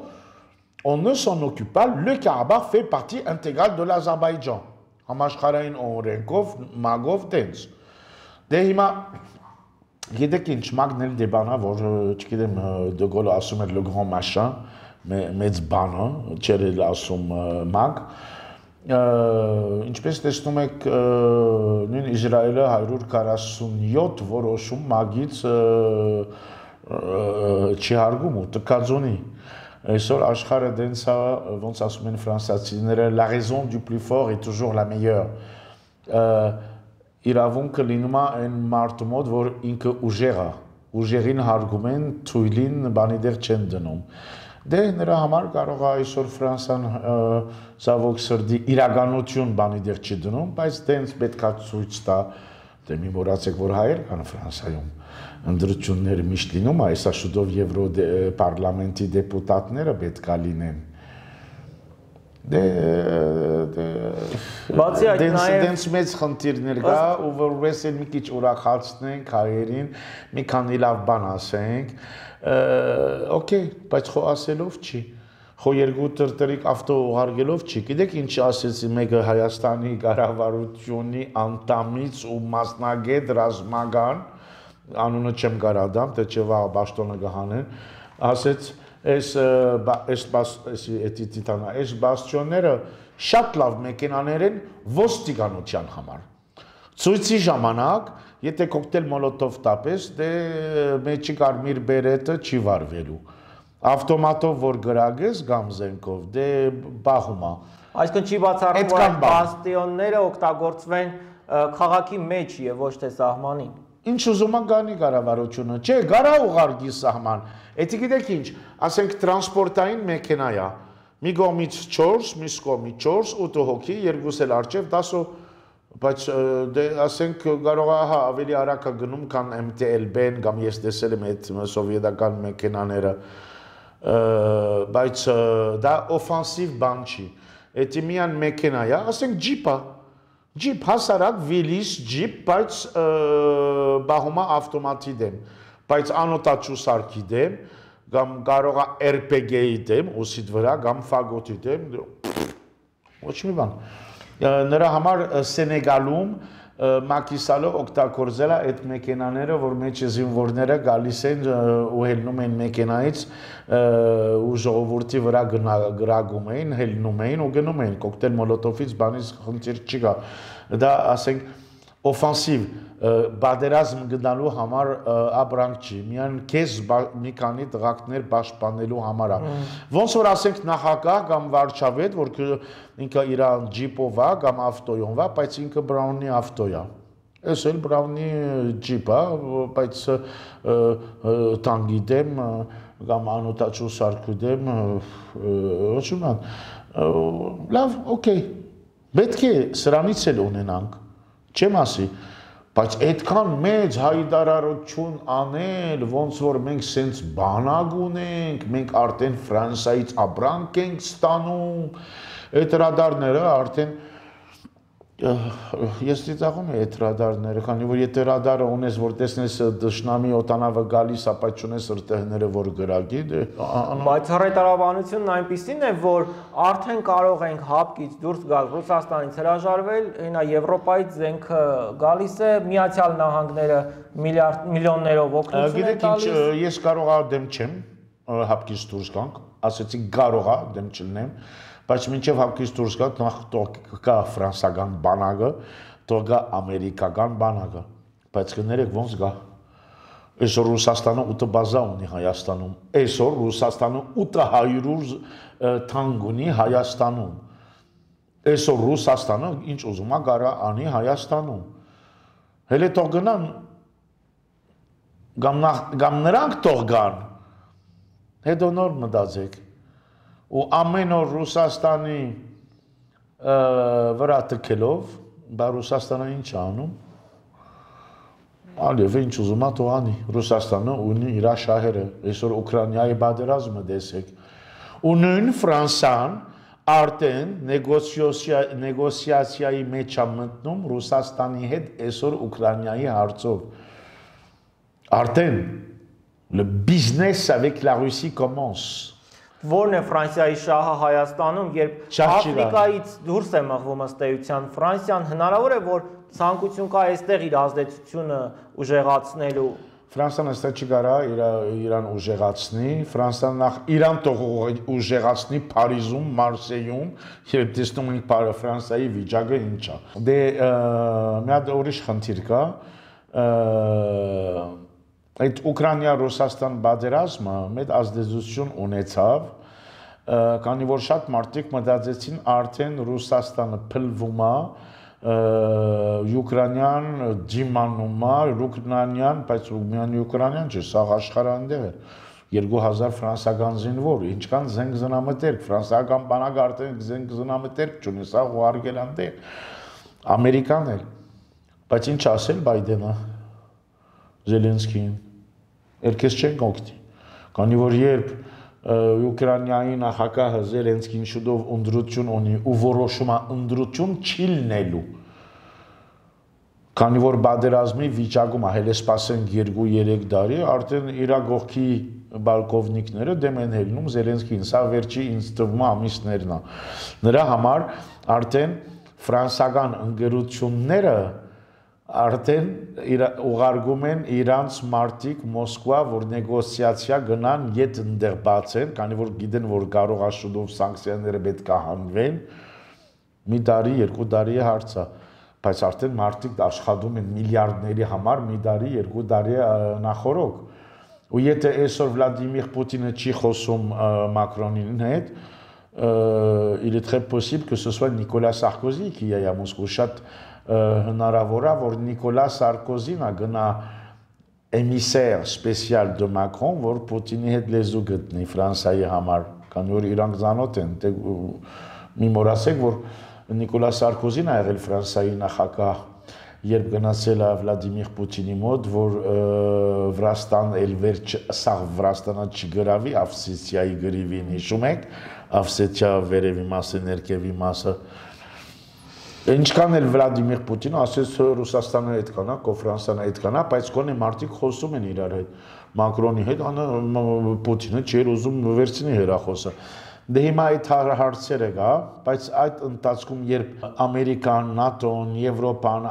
on ne s'en occupe pas, le Karabakh fait partie intégrale de l'Azerbaïdjan։ Համաշխարհային օրենքով, մագով տենց։ Դե հիմա գիտեք ինչ, մագն էլ դեբանա, որ չգիտեմ Դե Գոլը ասում էր le grand machin, մեծ բանը, չէր էլ ասում մագ, ինչպես տեսնում եք նույն Իսրայելը 147 որոշում մագից չի հարգում ու տկածունի։ Այսօր աշխարհը դենց է, ոնց ասում են ֆրանսիացիները, la raison du plus fort est toujours la meilleure։ իրավունքը լինում է այն մարդու մոտ, որ ինքը ուժեղ է, ուժեղին հարգում են, թույլին բանի դեր չեն դնում։ Դե նրա համար կարող է այսօր Ֆրանսիան ցավոք սրտի իրականություն բանի դեր չի դնում, բայց դենց պետքա ցույց տա, դե մի մոռացեք, որ հայեր կան Ֆրանսիայում, ընդրությունները միշտ լինում, այսա շուտով Եվրոպարլամենտի դեպուտատները պետքա լինեն։ Բացի այդ նաև դենց մեծ խնդիրներ կա, ու որպես էլ մի քիչ ուրախացնենք հայերին, մի քանի լավ բան ասենք, օքեյ, բայց խո ասելով չի, խո երկու տրտրիկ ավտո ուղարկելով չի, գիտեք ինչ ասեցի մեկը Հայաստանի կառավարությունի անդամից ու մասնագետ ռազմական, անունը չեմ կարադամ, թե չէ վաղ բաշտոնը կհանեն, ասեց այս բաստիոնները շատ լավ մեքենաներ են ոստիկանության համար։ Ցույցի ժամանակ, եթե կոկտեյլ մոլոտով տապես, դե մեջի կարմիր բերետը չի վարվելու։ Ավտոմատով որ գրագես կամ զենքով, դե բախում է։ Այսինքն չի բացառում, որ բաստիոնները օգտագործվեն քաղաքի մեջ եւ ոչ թե սահմանին։ Ինչ ուզում է գանի կառավարությունը, չէ, գարա ուղարկի սահման։ Էդի գիտեք ինչ, ասենք տրանսպորտային մեքենա է, մի կողմից 4, մյուս կողմից 4, 8 հոգի, երկուս էլ արջև 10, բայց դե ասենք կարող է ավելի արագ գնում, քան MTL-բեն կամ ես տեսել եմ այդ սովետական մեքենաները, բայց դա օֆանսիվ բան չի։ Էդի միան մեքենա է, ասենք ջիպ է։ Ջիպ, հասարակ վիլիս ջիպ, բայց բահում է ավտոմատի դեմ, բայց անոտաչու սարքի դեմ, կամ կարող է RPG-ի դեմ, ուսիդ վրա, կամ ֆագոտի դեմ, ոչ մի բան։ Նրա համար Սենեգալում Մակիսալը օգտագործել է այդ մեքենաները, որ մեջ զինվորները գալիս են ու հելնում են մեքենայից ու ժողովրդի վրա գրագում էին, հելնում էին ու գնում էին, կոկտեյլ մոլոտովից բանից խնդիր չի գա։ Դա ասենք օֆանսիվ բادرազմ գնալու համար ապրանք չի, միայն քեզ մի քանի տղակներ պաշտպանելու համար է։ Ոնց որ ասենք նախագահ կամ վարչապետ, որ ինքը իր ջիպով է կամ ավտոյով է, բայց ինքը Բրաունի ավտո է։ Էս էլ Բրաունի ջիպ է, բայց տանգի դեմ կամ անոտաչու սարքի դեմ, ոչ մի բան։ Լավ, օքեյ։ Պետք է սրանից էլ ունենանք, չեմ ասի, բայց այդքան մեծ հայտարարություն անել, ոնց որ մենք սենց բանակ ունենք, մենք արդեն Ֆրանսիայից ապրանք ենք ստանում, այդ ռադարները արդեն ես ծիծաղում եմ այդ ռադարները, քանի որ եթե ռադարը ունես, որ տեսնես դաշնամի օտանավը գալիս, ապա չունես ըրտեղները, որ գրագի, բայց հայտարարությունն այնպիսին է, որ արդեն կարող ենք հապկից դուրս գալ, Ռուսաստանից հրաժարվել, այնա Եվրոպայից զենքը գալիս է, Միացյալ Նահանգները միլիոններով օգնություն է տալիս։ Գիտեք ինչ, ես կարող եմ դեմ չեմ հապկից դուրս գանք, ասեցի կարող եմ դեմ չլինեմ, բայց մինչև հապկից դուրս գա, նախ կա ֆրանսական բանակը, թող գա ամերիկական բանակը, բայց կներեք ոնց գա։ Այսօր Ռուսաստանը 8 բազա ունի Հայաստանում, այսօր Ռուսաստանը 800 թանկ ունի Հայաստանում, այսօր Ռուսաստանը ինչ ուզում է գարա անի Հայաստանում, հելե թող գնան, կամ նրանք թող գան, հետո նոր մտածեք, ու ամեն օր Ռուսաստանի վրա տքելով, բա Ռուսաստանը ինչ է անում, Ալիև ինչ ուզում է թող անի, Ռուսաստանը ունի իր շահերը, այսօր Ուկրաինայի պատերազմը տեսեք, ու նույն Ֆրանսիան արդեն նեգոսիացիայի մեջ է մտնում Ռուսաստանի հետ այսօր Ուկրաինայի հարցով, արդեն le business avec la Russie commence. Որն է Ֆրանսիայի շահը Հայաստանում, երբ Աֆրիկայից դուրս է մղվում ըստ էության Ֆրանսիան, հնարավոր է, որ ցանկություն կա այստեղ իր ազդեցությունը ուժեղացնելու։ Ֆրանսիան այստեղ չի կարա իրան ուժեղացնի, Ֆրանսիան նախ իրան թող ուժեղացնի Փարիզում, Մարսեյում, երբ տեսնում ենք Ֆրանսիայի վիճակը ինչ է։ Դե մի հատ ուրիշ խնդիր կա, այդ Ուկրաինա-Ռուսաստան պատերազմը մեծ ազդեցություն ունեցավ, քանի որ շատ մարդիկ մտածեցին արդեն Ռուսաստանը փլվում է Ուկրաինան դիմանումա, ուկրաինան, բայց միայն ուկրաինան չէ, սա աշխարհանդեղ է։ 2000 ֆրանսական զինվոր, ինչքան զենք զնամտերք, ֆրանսիական բանակը արդեն զենք զնամտերք չունի, սա ուղարկել անտեղ, ամերիկան էլ, բայց ինչ ասել Բայդենը, Զելենսկին, երկես չենք օգտի, քանի որ երբ Ուկրաինայի նախագահը Զելենսկին շուտով ընդրություն ունի ու որոշում է ընդրություն չի լինելու, քանի որ բادرազմի վիճակում է, հենց սպասենք 2-3 տարի, արդեն իր գողքի բալկովնիկները դեմ են հելնում Զելենսկին, սա վերջի ինձ թվում է ամիսներն է, նրա համար արդեն ֆրանսական ընկերությունները արդեն ուղարկում են իրանց մարդիկ Մոսկվա, որ նեգոցիացիա գնան ետ ընդեղ բացեն, քանի որ գիտեն, որ կարող է շուտով սանկցիաները պետք է հանվեն, մի տարի, 2 տարի հարց է, բայց արդեն մարդիկ աշխատում են միլիարդների համար, մի տարի, 2 տարի նախորոք, ու եթե այսօր Վլադիմիր Պուտինը չի խոսում Մակրոնին հետ, il est très possible que ce soit Nicolas Sarkozy qui aille à Moscou, շատ հնարավոր է, որ Նիկոլաս Սարկոզին է գնա էմիսեր սպեսիալ դե Մակրոն, որ Պուտինի հետ լեզու գտնի Ֆրանսիայի համար, քանի որ իրանք ծանոթ են, մի մոռացեք, որ Նիկոլաս Սարկոզին է եղել Ֆրանսիայի նախագահ, երբ գնացել է Վլադիմիր Պուտինի մոտ, որ Վրաստան էլ վերջ սաղ Վրաստանը չգրավի, Ավսեթիայի գրիվին հիշում եք, Ավսեթիա վերևի մասը, ներքևի մասը, Ինչքան էլ Վլադիմիր Պուտինը ասես Ռուսաստանը այդքան է, Ֆրանսիան այդքան է, բայց գոնե մարդիկ խոսում են իրար հետ, Մակրոնի հետ, Պուտինը չէր ուզում վերցնի հեռախոսը։ Դե հիմա այդ հարցերը կա, բայց այդ ընթացքում երբ Ամերիկան, ՆԱՏՕ-ն, Եվրոպան,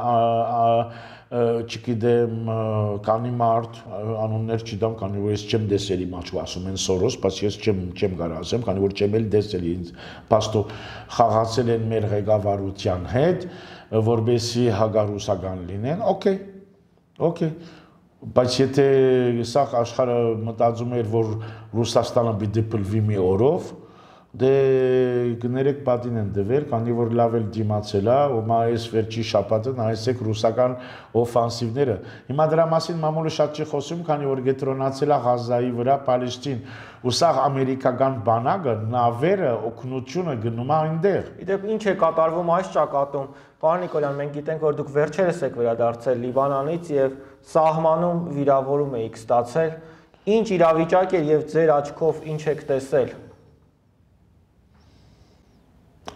չգիտեմ, կանի մարդ, անուններ չդամ, քանի որ ես չեմ դեսել իմ աչքով, ասում են Սորոս, բայց ես չեմ կարող ասեմ, քանի որ չեմ էլ դեսել ինձ, պաստո խաղացել են մեր ղեկավարության հետ, որպեսզի հագարուսական լինեն, օքեյ, բայց եթե սա աշխարհը մտածում էր, որ Ռուսաստանը պիտի փլվի մի օրով, դե գներեք պատին են դվեր, քանի որ լավ էլ դիմացել է, ու այս վերջի շաբաթը նայեցեք ռուսական օֆանսիվները։ Հիմա դրա մասին մամուլը շատ չի խոսում, քանի որ գետրոնացել է Ղազայի վրա Պալեստին, ու սա ամերիկական բանակը, նավերը, օգնությունը գնում է այնտեղ։ Իդեպ ինչ է կատարվում այս ճակատում։ Պարոն Նիկոլյան, մենք գիտենք, որ դուք վերջերս եք վերադարձել Լիբանանից եւ սահմանում վիրավորում եք ստացել։ Ինչ իրավիճակ է եւ ձեր աչքով ինչ եք տեսել։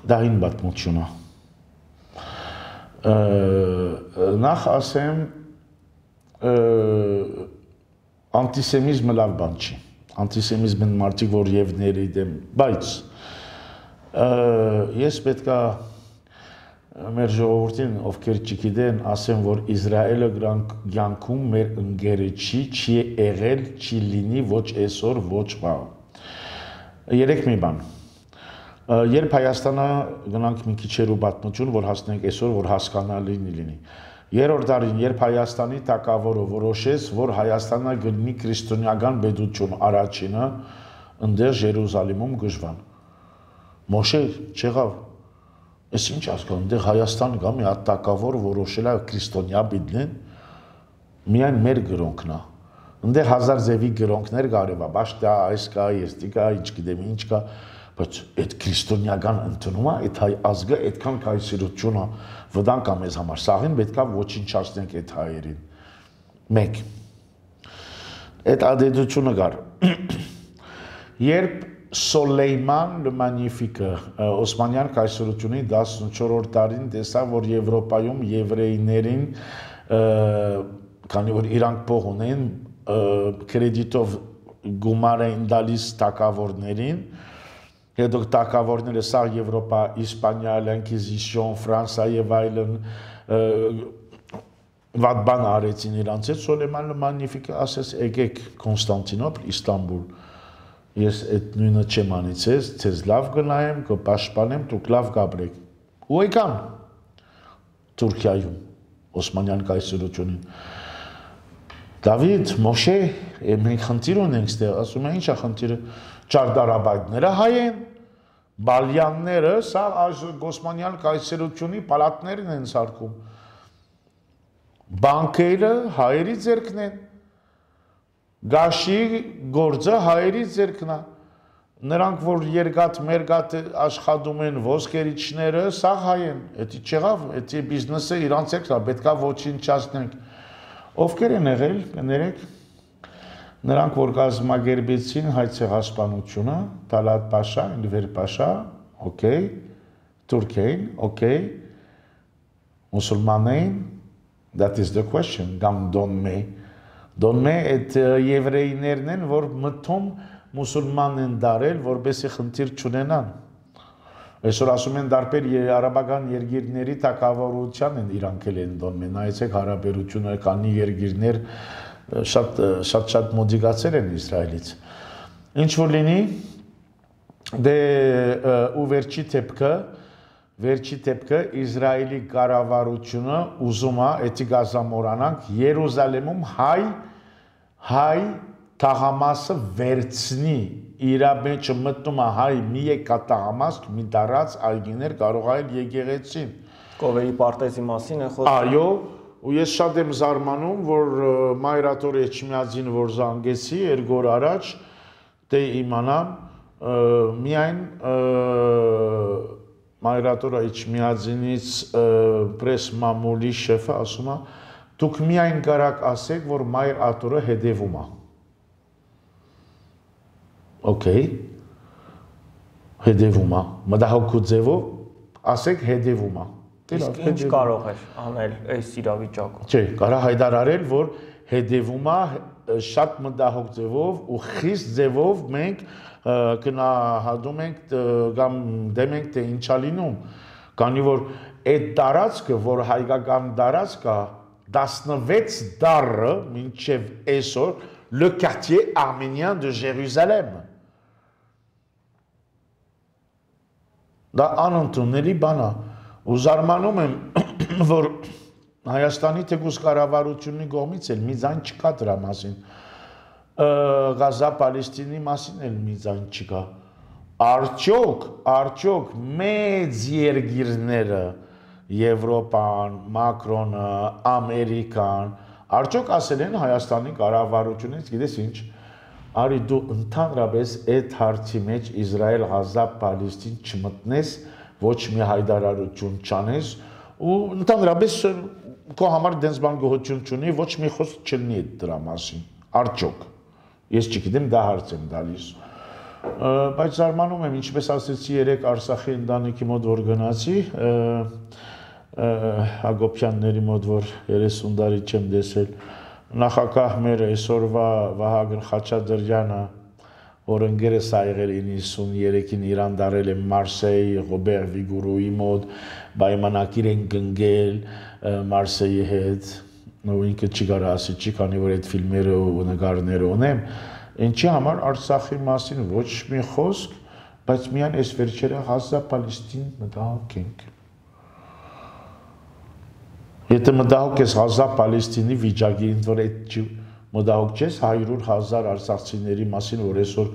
Դա հին պատմություն է։ Նախ ասեմ, անտիսեմիզմը լավ բան չի։ Անտիսեմիզմը մարդիկ, որ եվների դեմ, բայց ես պետք է մեր ժողովրդին, ովքեր չգիտեն, ասեմ, որ Իսրայելը կյանքում մեր ընկերը չի եղել, չի լինի ոչ այսօր, ոչ վաղ։ Երեք մի բան։ Երբ Հայաստանը գնանք մի քիչերու պատմություն, որ հասնենք այսօր, որ հասկանալի լինի։ Երրորդ տարին, երբ Հայաստանի թագավորը որոշեց, որ Հայաստանը գտնի քրիստոնեական պետություն առաջինը, ընդեղ Երուսաղեմում գժվան։ Մոշե չեղավ։ Ես ինչ հասկանում, ընդեղ Հայաստան կա մի հատ թագավոր որոշել է քրիստոնյա բիդլեն, միայն մեր գրոնքն է։ Ընդեղ հազար ձևի գրոնքներ կարևա, բաշտա, այս կա, եստի կա, ինչ գիտեմ, ինչ կա, բայց այդ քրիստոնեական ընդունումը, այդ հայ ազգը այդքան կայսրությունը վտանգ է մեզ համար, սաղին պետք է ոչնչացնենք այդ հայերին։ Մեկ։ Այդ ադետությունը կար։ Երբ Սոլեյման le Magnifique Օսմանյան կայսրությունի 14-րդ տարին տեսավ, որ Եվրոպայում եվրեիներին, քանի որ իրանք փող ունեն, կրեդիտով գումար էին տալիս թագավորներին, հետո թագավորները սա Եվրոպա, Իսպանիա, Ինկվիզիցիոն, Ֆրանսիա եւ այլն վատ բան արեցին իրանց հետ, Սոլեյման le Magnifique ասեց, եկեք Կոնստանտինոպլ, Իստանբուլ, ես այդ նույնը չեմ անիցես, ցեզ լավ գնայեմ, կպաշտպանեմ, դուք լավ գաբրեք։ Ու եկան Թուրքիայում, Օսմանյան կայսրությունին։ Դավիթ, Մոշե, մենք խնդիր ունենք ստեղ, ասում են, ի՞նչ է խնդիրը, ճարտարապետները հայ են, բալյանները սա Գոսմանյան կայսերությունի պալատներն են սարքում։ Բանկերը հայերի ձեռքն են, գաշի գործը հայերի ձեռքն է, նրանք, որ երկաթ մերգաթ աշխատում են ոսկերիչները, սա հայ են, էդի չեղավ, էդի բիզնեսը իրանց ձեռքն է, պետք է ոչնչացնենք։ Ովքեր են եղել, կներեք, նրանք, որ կազմակերպեցին հայ ցեղասպանությունը, Տալատ Փաշա, Էնվեր Փաշա, օքեյ, Թուրքիան, օքեյ, մուսուլմաններին, that is the question, կամ Դոնմե այդ եվրեիներն են, որ մտում մուսուլման են դարել, որպեսզի խնդիր չունենան։ Այսօր ասում են դարբեր արաբական երկիրների թակավորության են իրանքել են Դոնմե, նայեցեք հարաբերությունը կանի երկիրներ շատ մոդիկացել են Իսրայելից։ Ինչ որ լինի, դե ու վերջի դեպքը Իսրայելի կառավարությունը ուզում է էդի գազամորանանք Երուսաղեմում հայ թաղամասը վերցնի իր մեջ մտնում է հայ մի եկատաղամաս մի դարած այգիներ կարող այլ եկեղեցին Կովերի պարտեզի մասին է խոսքը այո ու ես շատ եմ զարմանում որ Մայրաթոր Էչմիածին որ զանգեցի երկու օր առաջ դե իմանամ միայն Մայրաթոր Էչմիածինից պրես մամուլի շեֆը ասում է դուք միայն կարաք ասեք որ Մայրաթորը հետևում է Okay. Հետևում է, մտահոգու ձևով, ասեք հետևում է։ Իսկ ինչ կարող էր անել այս իրավիճակում։ Չէ, կարող հայտարարել, որ հետևում է շատ մտահոգ ձևով ու խիստ ձևով մենք գնահատում ենք կամ դեմ ենք թե ինչա լինում։ Քանի որ այդ տարածքը, որ հայկական տարածք է, 16 դարը մինչև այսօր le quartier arménien de Jérusalem Դա անընդունելի բան է, ու զարմանում եմ, որ Հայաստանի թեկուզ կառավարությունի կողմից էլ մի ձայն չկա դրա մասին, Գազա-Պալեստինի մասին էլ մի ձայն չկա, արդյոք մեծ երկիրները, Եվրոպան, Մակրոնը, Ամերիկան, արդյոք ասել են Հայաստանի կառավարությունից, գիտես ինչ, Արի դու ընդհանրապես այդ հարցի մեջ Իսրայել Գազա-Պալեստին չմտնես, ոչ մի հայտարարություն չանես ու ընդհանրապես քո համար դենց բան գոհություն չունի, ոչ մի խոսք չլինի այդ դրա մասին։ Արդյոք ես չգիտեմ, դա հարց եմ տալիս։ Բայց զարմանում եմ, ինչպես ասեցի երեք Արցախի ընտանիքի մոտ որ գնացի, Հակոբյանների մոտ որ 30 տարի չեմ տեսել Նախագահ մեր այսօրվա Վահագն Խաչատրյանը, որ ընկերս ա եղել 93-ին Իրան դարել է Մարսեյ, Ռոբեր Վիգուրուի մոտ, պայմանագիր են կնքել Մարսեյի հետ, ու ինքը չի կարող ասի, չի, քանի որ այդ ֆիլմերը ու նկարները ունեմ, ինչի համար Արցախի մասին ոչ մի խոսք, բայց միայն այս վերջերը Գազա-Պալեստին մտահոգ ենք։ Եթե մտահոգ ես Գազա-Պալեստինի վիճակի, ինձ որ այդ մտահոգ չես 100,000 արցախցիների մասին, որ այսօր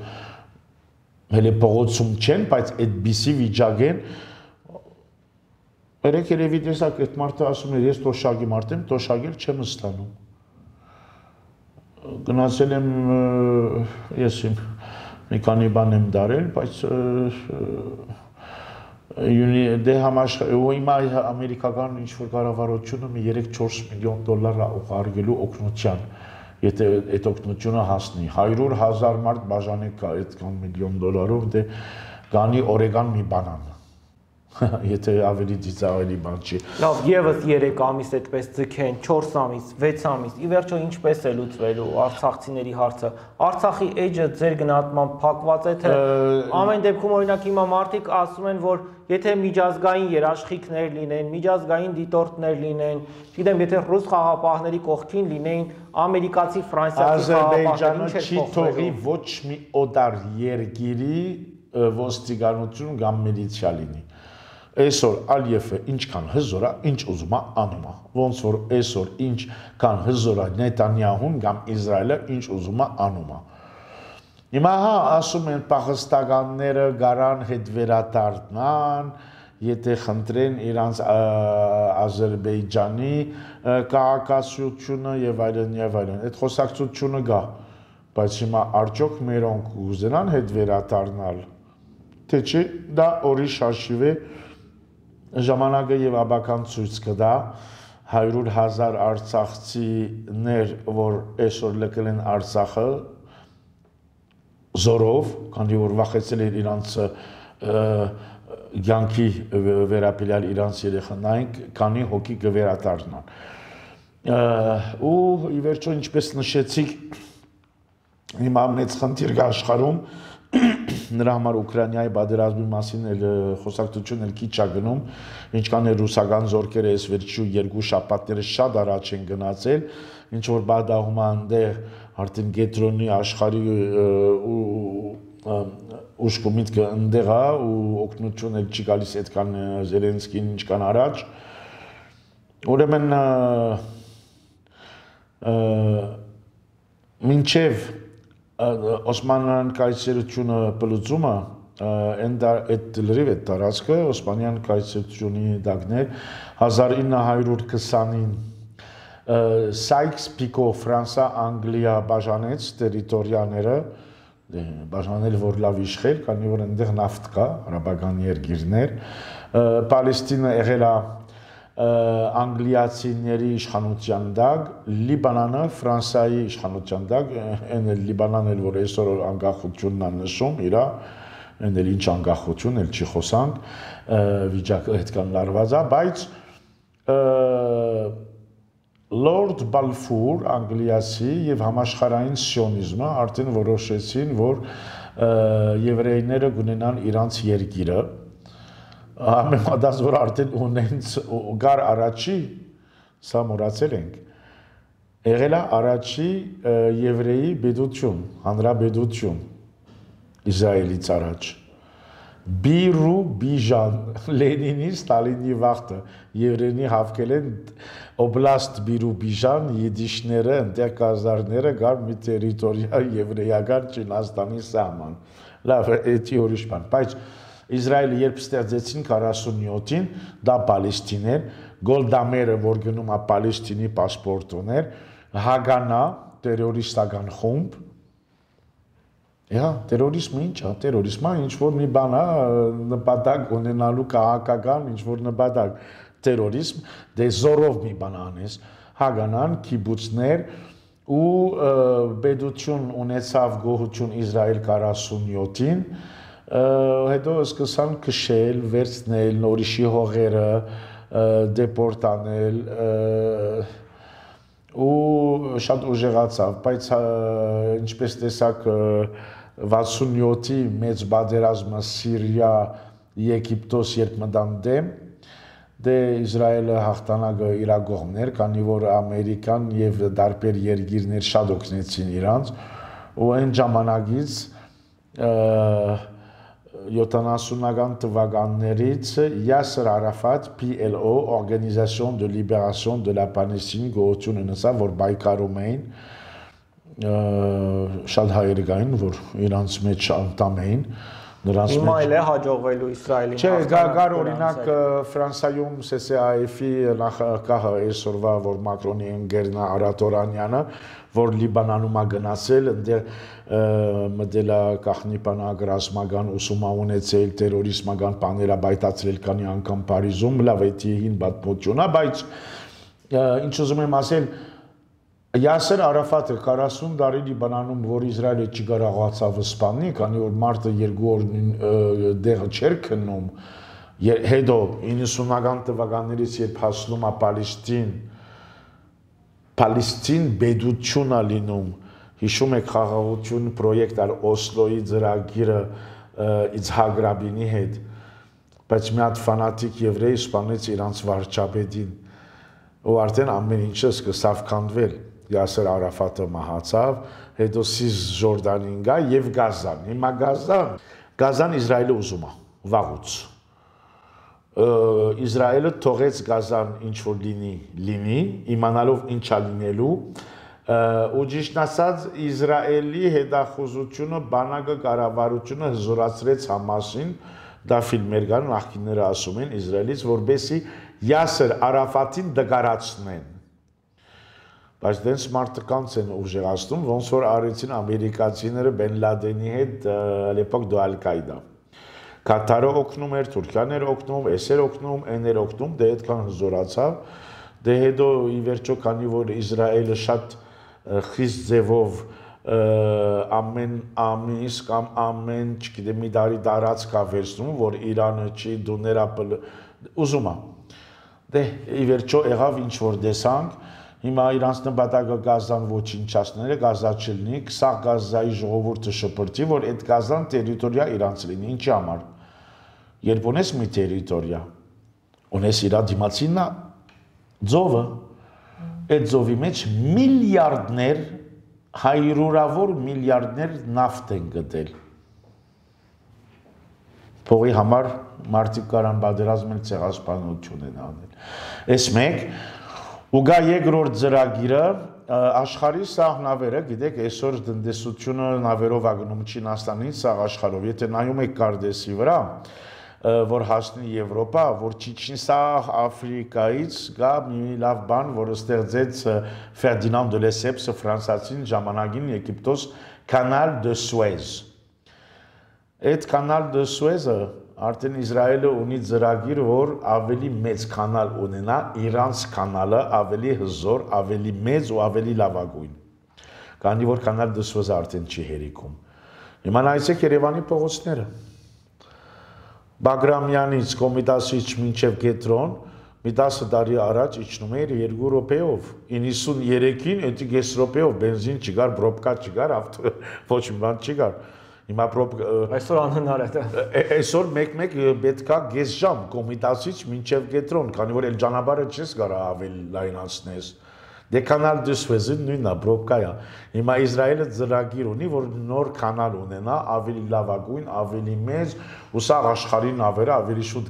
հենց փողոցում չեն, բայց այդպիսի վիճակ են։ Երեք երևի տեսակ այդ մարդը ասում է, ես տոշակի մարդ եմ, տոշակել չեմ ստանում։ Գնացել եմ, ես մի քանի բան եմ դարել, բայց դե հիմա ամերիկական ինչ-որ կառավարությունը մի 3-4 միլիոն դոլար ուղարկելու օգնության, եթե այդ օգնությունը հասնի, 100,000 մարդ բաժանեք կա այդքան միլիոն դոլարով, դե գանի օրեգան մի բանան, եթե ավելի ծիծաղելի բան չի։ Լավ, եւս 3 ամիս այդպես ձգեն, 4 ամիս, 6 ամիս, ի վերջո ինչպես է լուծվելու արցախցիների հարցը։ Արցախի էջը ձեր գնահատմամբ փակված է, թե ամեն դեպքում օրինակ հիմա մարդիկ ասում են, որ եթե միջազգային երաշխիքներ լինեն, միջազգային դիտորդներ լինեն, չգիտեմ, եթե ռուս խաղապահների կողքին լինեին ամերիկացի, ֆրանսիացի խաղապահներ, ինչ է չի թողի ոչ մի օտար երկիրի ոստիկանություն կամ միլիցիա լինի։ Այսօր Ալիևը ինչքան հզոր է, ինչ ուզում է անում է։ Ոնց որ այսօր ինչքան հզոր է Նետանյահուն կամ Իսրայելը ինչ ուզում է անում է։ Հիմա հա ասում են պաղստականները գարան հետ վերադառնան, եթե խնդրեն իրանց Ադրբեջանի քաղաքացիությունը եւ այլն եւ այլն։ Այդ խոսակցությունը գա, բայց հիմա արդյոք մերոնք ուզենան հետ վերադառնալ, թե չէ դա ուրիշ հաշիվ է, ժամանակը եւ աբական ցույց կտա 100,000 արցախցիներ, որ այսօր լքել են Արցախը զորով, քանի որ վախեցել էր իրանց ցանկի վերապիլյալ իրանց երեխաներին, քանի հոգի կվերադառնան։ Ու ի վերջո ինչպես նշեցիք, հիմա մեծ խնդիր կա աշխարհում, նրա համար Ուկրաինայի պատերազմի մասին խոսակցություն էլ քիչ է գնում, ինչքան է ռուսական զորքերը այս վերջի երկու շաբաթները շատ առաջ են գնացել, ինչ որ բադահում այնտեղ արդեն գետրոնի աշխարհի ուշք ու միտքը ընդեղ է ու օգնություն էլ չի գալիս այդքան Զելենսկին ինչքան առաջ։ Ուրեմն մինչև Օսմանյան կայսրությունը բլուծումը այդ լրիվ այդ տարածքը Օսմանյան կայսրությունի դակներ 1920-ին Սայքս-Պիկո Ֆրանսա Անգլիա բաժանեց տերիտորիաները, բաժանել որ լավ իշխեր, քանի որ այնտեղ նավթ կա, արաբական երկիրներ, Պալեստինը եղել է անգլիացիների իշխանության տակ, Լիբանանը Ֆրանսիայի իշխանության տակ, այն էլ Լիբանանն էլ որ այսօր անկախությունն է նշում, իրա, այն էլ ինչ անկախություն, էլ չի խոսանք, վիճակը այդքան լարված է, բայց Լորդ Բալֆուր, անգլիացի եւ համաշխարհային սիոնիզմը արդեն որոշեցին, որ եվրեյները կունենան իրանց երկիրը, համեմատած որ արդեն ունենց գար առաջի, սա մոռացել ենք, եղել է առաջի եվրեի պետություն, հանրապետություն Իսրայելից առաջ։ Բիրու Բիժան, Լենինի, Ստալինի վաղտը, եվրենի հավկել են օբլաստ Բիրու Բիժան, եդիշները, ընտեղ կազարները գար մի տերիտորիա եվրեյական Չինաստանի սահման։ Լավ, էդի ուրիշ բան, բայց Իսրայելը երբ ստեղծեցին 47-ին, դա Պալեստին էր, Գոլդա Մերը, որ գնում է Պալեստինի պասպորտ ուներ, Հագանա, տերորիստական խումբ, տերորիզմը ինչ է, տերորիզմը ինչ-որ մի բան է, նպատակ ունենալու քաղաքական ինչ-որ նպատակ, տերորիզմ, դե զորով մի բան անես, Հագանան, կիբուցներ ու պետություն ունեցավ գոհություն Իսրայել 47-ին, հետո սկսան քշել, վերցնել, նորիշի հողերը, դեպորտ անել, ու շատ ուժեղացավ, բայց ինչպես տեսակ 67-ի մեծ բادرազմը Սիրիա, Եգիպտոս երբ մտան դեմ, դե Իսրայելը հաղթանակը իր կողմն էր, քանի որ Ամերիկան եւ դարբեր երկիրներ շատ օգնեցին իրանց, ու այն ժամանակից 70-ական թվականներից Յասեր Արաֆատ PLO, Organisation de Libération de la Palestine գոյություն ունեցավ, որ պայքարում էին շատ հայեր կային, որ իրանց մեջ անդամ էին, նրանց մեջ։ Հիմա էլ է հաջողվելու Իսրայելին։ Չէ, գար օրինակ Ֆրանսիայում SSAF-ի նախագահը այսօրվա, որ Մակրոնի ընկերն է Արատորանյանը, որ Լիբանանում է գնացել, այնտեղ մտել է կախնիպանակ ռազմական ուսումա ունեցել, տերորիզմական բաներ է բայտացրել քանի անգամ Փարիզում, լավ է հին պատմություն է, բայց ինչ ուզում եմ ասել, Յասեր Արաֆատը 40 տարի Լիբանանում, որ Իսրայելը չկարողացավ սպանել, քանի որ մարտը 2 օր դեղը չէր քննում, հետո 90-ական թվականներից երբ հասնում է Պալեստին պետություն է լինում, հիշում եք խաղաղություն պրոյեկտ ար Օսլոյի ծրագիրը Իցհակ Ռաբինի հետ, բայց մի հատ ֆանատիկ եվրեյ սպանեց իրանց վարչապետին, ու արդեն ամեն ինչը սկսավ քանդվել, Յասեր Արաֆատը մահացավ, հետո Սիսջորդանին գա եւ Գազան, հիմա Գազան Իսրայելը ուզում է, վաղուց, Իսրայելը թողեց Գազան ինչ որ լինի, իմանալով ինչա լինելու, ու ճիշտ ասած Իսրայելի հետախուզությունը բանակը կառավարությունը հզորացրեց Համասին, դա ֆիլմեր կան, նախկինները ասում են Իսրայելից, որբեսի Յասեր Արաֆատին դգարացնեն։ Բայց դենց մարդկանց են ուժեղացնում, ոնց որ արեցին ամերիկացիները Բեն Լադենի հետ l'epoque de Al-Qaeda։ Կատարը օգնում էր, Թուրքիան էր օգնում, էս էր օգնում, այն էր օգնում, դե այդքան հզորացավ։ Դե հետո ի վերջո քանի որ Իսրայելը շատ խիստ ձևով ամեն ամիս կամ ամեն, չգիտեմ, մի տարի տարածք է վերցնում, որ Իրանը չի դու նրա ուզում է։ Դե ի վերջո եղավ ինչ որ տեսանք, հիմա իրանց նպատակը Գազան ոչնչացնել է, Գազա չլինի, սա Գազայի ժողովուրդը շփրտի, որ այդ Գազան տերիտորիա իրանց լինի, ինչի համար։ Երբ ունես մի տերիտորիա, ունես իր դիմացինն ձովը, այդ ձովի մեջ միլիարդներ, հայրուրավոր միլիարդներ նավթ են գտել։ Փողի համար մարդիկ կարան պատերազմել, ցեղասպանություն են անել։ Այս մեկ ու գա երկրորդ ծրագիրը աշխարհի սաղ նավերը, գիտեք, այսօր տնտեսությունը նավերով ագնում Չինաստանից սաղ աշխարհով, եթե նայում եք կարդեսի վրա, որ հասնի Եվրոպա, որ Չիչինսաղ Աֆրիկայից գա մի լավ բան, որը ստեղծեց Ֆերդինանդ դե Լեսեփսը ֆրանսացին ժամանակին Եգիպտոս Canal de Suez։ Այդ Canal de Suez-ը արդեն Իսրայելը ունի ծրագիր, որ ավելի մեծ կանալ ունենա, իրանց կանալը ավելի հզոր, ավելի մեծ ու ավելի լավագույն։ Քանի որ Canal de Suez-ը արդեն չի հերիքում։ Հիմա նայեցեք Երևանի փողոցները։ Բագրամյանից, Կոմիտասից մինչև Կետրոն, մի 10 տարի առաջ իջնում էր 2 րոպեով, 93-ին էդի 5 րոպեով բենզին չկար, բրոբկա չկար, ոչ մի բան չկար։ Հիմա այսօր անհնար է դա։ Այսօր մեկ-մեկ պետքա 5 ժամ Կոմիտասից մինչև Կետրոն, քանի որ էլ ճանապարհը չես կարա ավելի լայնացնես։ Դե Canal de Suez-ը նույնն է, բրոբկա է։ Հիմա Իսրայելը ծրագիր ունի, որ նոր կանալ ունենա, ավելի լավագույն, ավելի մեծ, ու սա աշխարհի նավերը ավելի շուտ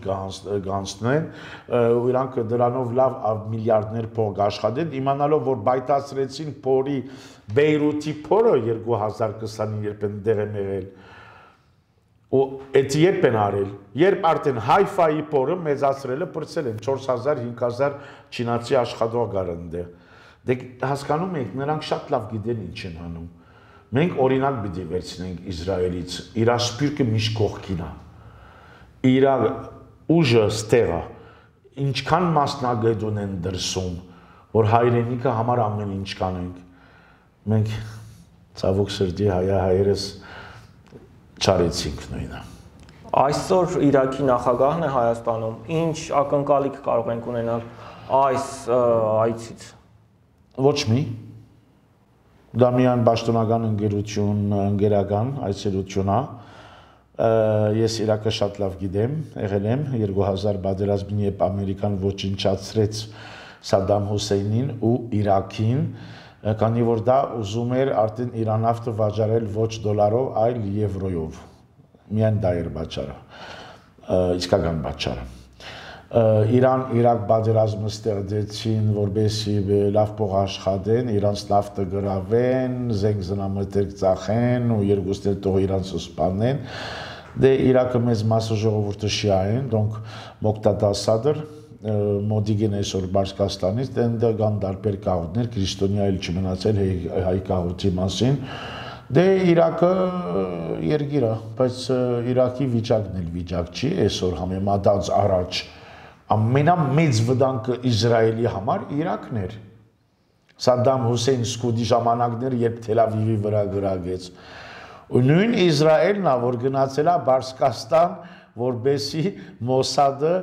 կհանձնեն, ու իրանք դրանով լավ միլիարդներ փող կաշխատեն, իմանալով որ բայտացրեցին փորի Բեյրութի փորը 2020-ին երբ են դեղ եմ եղել։ Ու այդ երբ են արել, երբ արդեն Հայֆայի փորը մեծացրելը պրծել են 4000-5000 չինացի աշխատող կար այնտեղ։ Դե հասկանում եք, նրանք շատ լավ գիտեն ինչ են անում։ Մենք օրինակ պիտի վերցնենք Իսրայելից, իր սպիրկը միշտ կողքին է։ Իր ուժը ստեղ է։ Ինչքան մասնագետ ունեն դրսում, որ հայրենիքը համար ամեն ինչ կանենք։ Մենք ցավոք սրտի հայերս չարեցինք նույնը։ Այսօր Իրաքի նախագահն է Հայաստանում, ինչ ակնկալիք կարող ենք ունենալ այս այցից։ Ոչ մի։ Դա միայն պաշտոնական ընկերական այցելություն է։ Ես Իրաքը շատ լավ գիտեմ, եղել եմ 2000 պատերազմին, երբ Ամերիկան ոչնչացրեց Սադամ Հուսեյնին ու Իրաքին, քանի որ դա ուզում էր արդեն Իրան նավթը վաճառել ոչ դոլարով, այլ եվրոյով։ Միայն դա էր պատճառը, իսկական պատճառը։ Իրան-Իրաք պատերազմը ստեղծեցին, որպեսզի լավ փող աշխատեն, իրանց նավթը գրավեն, զենք զնամթերք ծախեն ու երկուսն էլ թող իրանցը սպանեն։ Դե Իրաքը մեծ մասը ժողովուրդը շիա են, donc Մոկտադա Սադր, մոդիգեն այսօր Պարսկաստանից, դե կան տարբեր կաղուտներ, քրիստոնյա էլ չմնացել հայ կաղուտի մասին։ Դե Իրաքը երկիր է, բայց Իրաքի վիճակն էլ վիճակ չի, այսօր համեմատած առաջ ամենամեծ վտանգը Իսրայելի համար Իրաքն էր։ Սադամ Հուսեյն սկուտի ժամանակներ, երբ Թել Ավիվի վրա գրագեց։ Ու նույն Իսրայելն է, որ գնացել է Պարսկաստան, որբեսի Մոսադը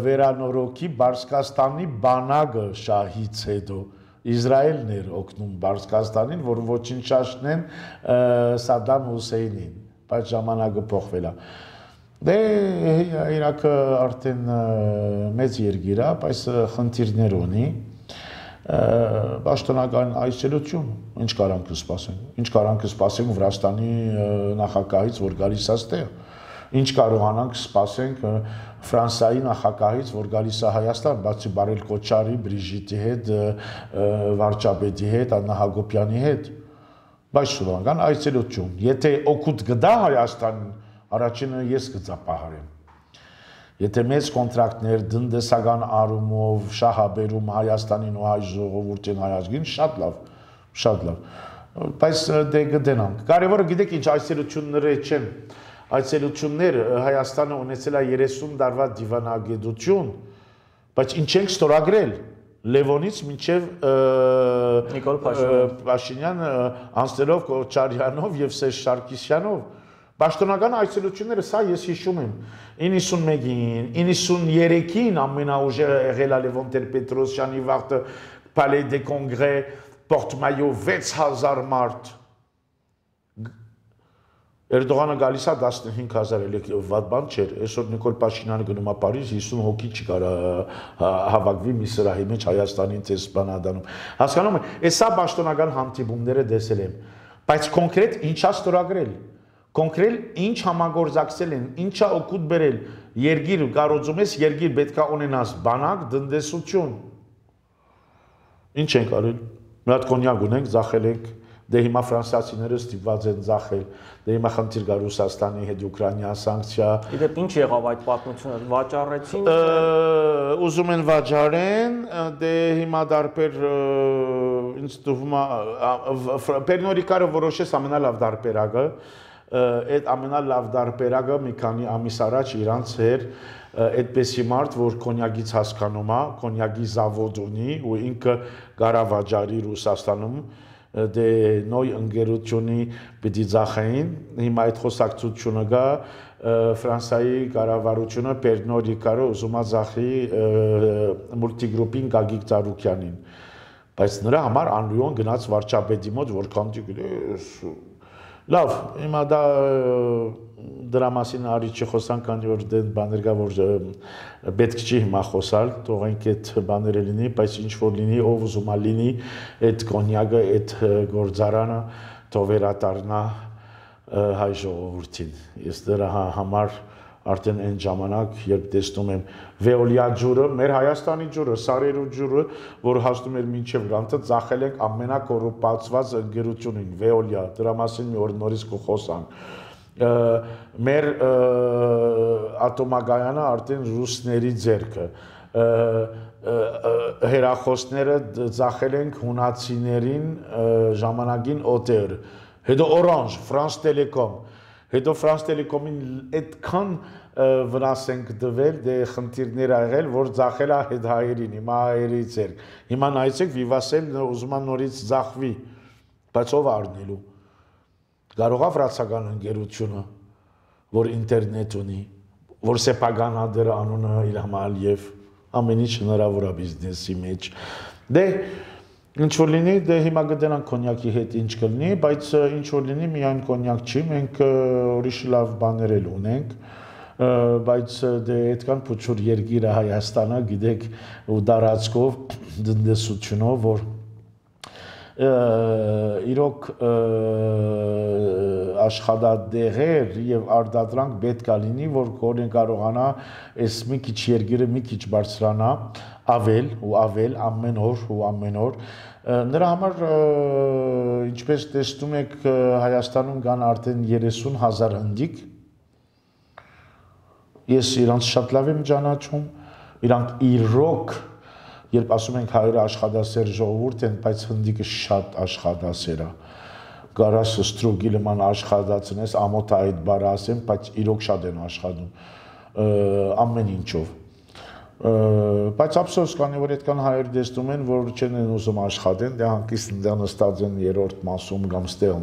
վերանորոգի Պարսկաստանի բանակը շահից հետո։ Իսրայելն էր օգնում Պարսկաստանին, որ ոչնչացնեն Սադամ Հուսեյնին, բայց ժամանակը փոխվել է։ Դե Իրաքը արդեն մեծ երկիր է, բայց խնդիրներ ունի, պաշտոնական այցելություն, ինչ կարանք սպասենք, ինչ կարանք սպասենք Վրաստանի նախագահից, որ գալիս է ստեղ, Ինչ կարողանանք սպասենք Ֆրանսիայի նախագահից, որ գալիս է Հայաստան, բացի Բարել Քոչարի, Բրիժիտի հետ, վարչապետի հետ, Աննա Հակոբյանի հետ, բայց շնորհական այցելություն։ Եթե օգուտ գտա Հայաստանին, առաջինը ես կծապահարեմ։ Եթե մեծ կոնտրակտներ տնտեսական առումով շահաբերում Հայաստանին ու հայ ժողովրդին հայազգին, շատ լավ, բայց դե գտնանք։ Կարևորը գիտեք ինչ այցելությունները չեն, այցելություններ Հայաստանը ունեցել է 30 տարվա դիվանագիտություն, բայց ինչ ենք ստորագրել Լևոնից մինչև Նիկոլ Փաշինյան անցնելով Քոչարյանով եւ Սերժ Սարգսյանով Պաշտոնական այցելությունները սա ես հիշում եմ 91-ին, 93-ին ամենաուժեղը եղել է Լևոն Տեր-Պետրոսյանի վաղտը Palais des Congrès Porte-Maillot 6000 մարդ Էրդողանը գալիս է 15000 վատ բան չէր, այսօր Նիկոլ Փաշինյանը գնում է Փարիզ 50 հոգի չկարա հավաքվի մի սրահի մեջ Հայաստանի տեսփանադանում։ Հասկանում եք, սա պաշտոնական հանդիպումները տեսել եմ, բայց կոնկրետ ինչա ստորագրել Կոնկրետ ինչ համագործակցել են, ինչա օգուտ բերել, երգիր կարոծում ես, երգիր պետք է ունենաս բանակ, տնտեսություն։ Ինչ ենք արել։ Մի հատ կոնյակ ունենք, ձախել ենք, դե հիմա ֆրանսիացիները ստիպված են ձախել, դե հիմա խնդիր կա Ռուսաստանի հետ Ուկրաինա սանկցիա։ Իդեպ ինչ եղավ այդ պատմությունը, վաճառեցին։ Ուզում են վաճառեն, դե հիմա դարբեր ինձ թվում է Պերնորիկարը որոշեց ամենալավ դարբերակը Այդ ամենալավ դարբերակը մի քանի ամիս առաջ իրանց էր այդպեսի մարդ, որ կոնյակից հասկանում է, կոնյակի զավոդ ունի ու ինքը գարավաճարի Ռուսաստանում դե նոյ ընկերությունի պիտի ձախային, հիմա այդ խոսակցությունը գա Ֆրանսիայի կառավարությունը Պերնոյ Ռիկարը ուզում է ձախի մուլտիգրուպին Գագիկ Ծառուկյանին, բայց նրա համար անլույոն գնաց վարչապետի մոտ, որքան Լավ, հիմա դա դրա մասին արի չխոսանք, քանի որ դե բաներ կա, որ պետք չի հիմա խոսալ, թողենք այդ բաները լինի, բայց ինչ որ լինի, ով ուզում է լինի, այդ կոնյակը, այդ գործարանը թող վերադառնա հայ ժողովրդին։ Ես դրա համար արդեն այն ժամանակ, երբ տեսնում եմ Վեոլիա ջուրը, մեր Հայաստանի ջուրը, Սարերու ջուրը, որ հասնում էր մինչև գանտը, ծախել ենք ամենակոռուպացված ընկերությունին, Վեոլիա, դրա մասին մի օր նորից կխոսանք։ Մեր ատոմագայանը արդեն ռուսների ձեռքը, հերախոսները ծախել ենք հունացիներին ժամանակին օտեր, հետո Orange, France Telecom, հետո France Telecom-ին այդքան վնաս ենք դվել, դե խնդիրներ ա եղել, որ ձախել է հետ հայերին, հիմա հայերի ձեռք։ Հիմա նայեցեք Vivatel ուզում է նորից ձախվի, բայց ով առնելու։ Կարող է վրացական ընկերությունը, որ ինտերնետ ունի, որ Սեպագանադեր անունը Իլհամ Ալիև, ամեն ինչ հնարավոր է բիզնեսի մեջ։ Դե ինչ որ լինի, դե հիմա գտնանք կոնյակի հետ ինչ կլինի, բայց ինչ որ լինի միայն կոնյակ չի, մենք ուրիշ լավ բաներ էլ ունենք, բայց դե այդքան փոքր երկիր է Հայաստանը, գիտեք, ու դարածքով, տնտեսությունով, որ իրոք աշխատատեղեր եւ արտադրանք պետք է լինի, որ կորեն կարողանա այս մի քիչ երկիրը մի քիչ բարձրանա, ավել ու ավել ամեն օր Նրա համար ինչպես տեսնում եք Հայաստանում կան արդեն 30,000 հնդիկ Ես իրանց շատ լավ եմ ճանաչում իրանք իրոք երբ ասում ենք հայերը աշխատասեր ժողովուրդ են բայց հնդիկը շատ աշխատասեր է Գարաս ստրուգիլման աշխատացնես ամոթ այդ բառը ասեմ բայց իրոք շատ են աշխատում ամեն ինչով Բայց ափսոս կանի որ այդքան հայեր դեստում են որ չեն ուզում աշխատեն դե հանկիստ նստած են երրորդ մասում կամ ստեղ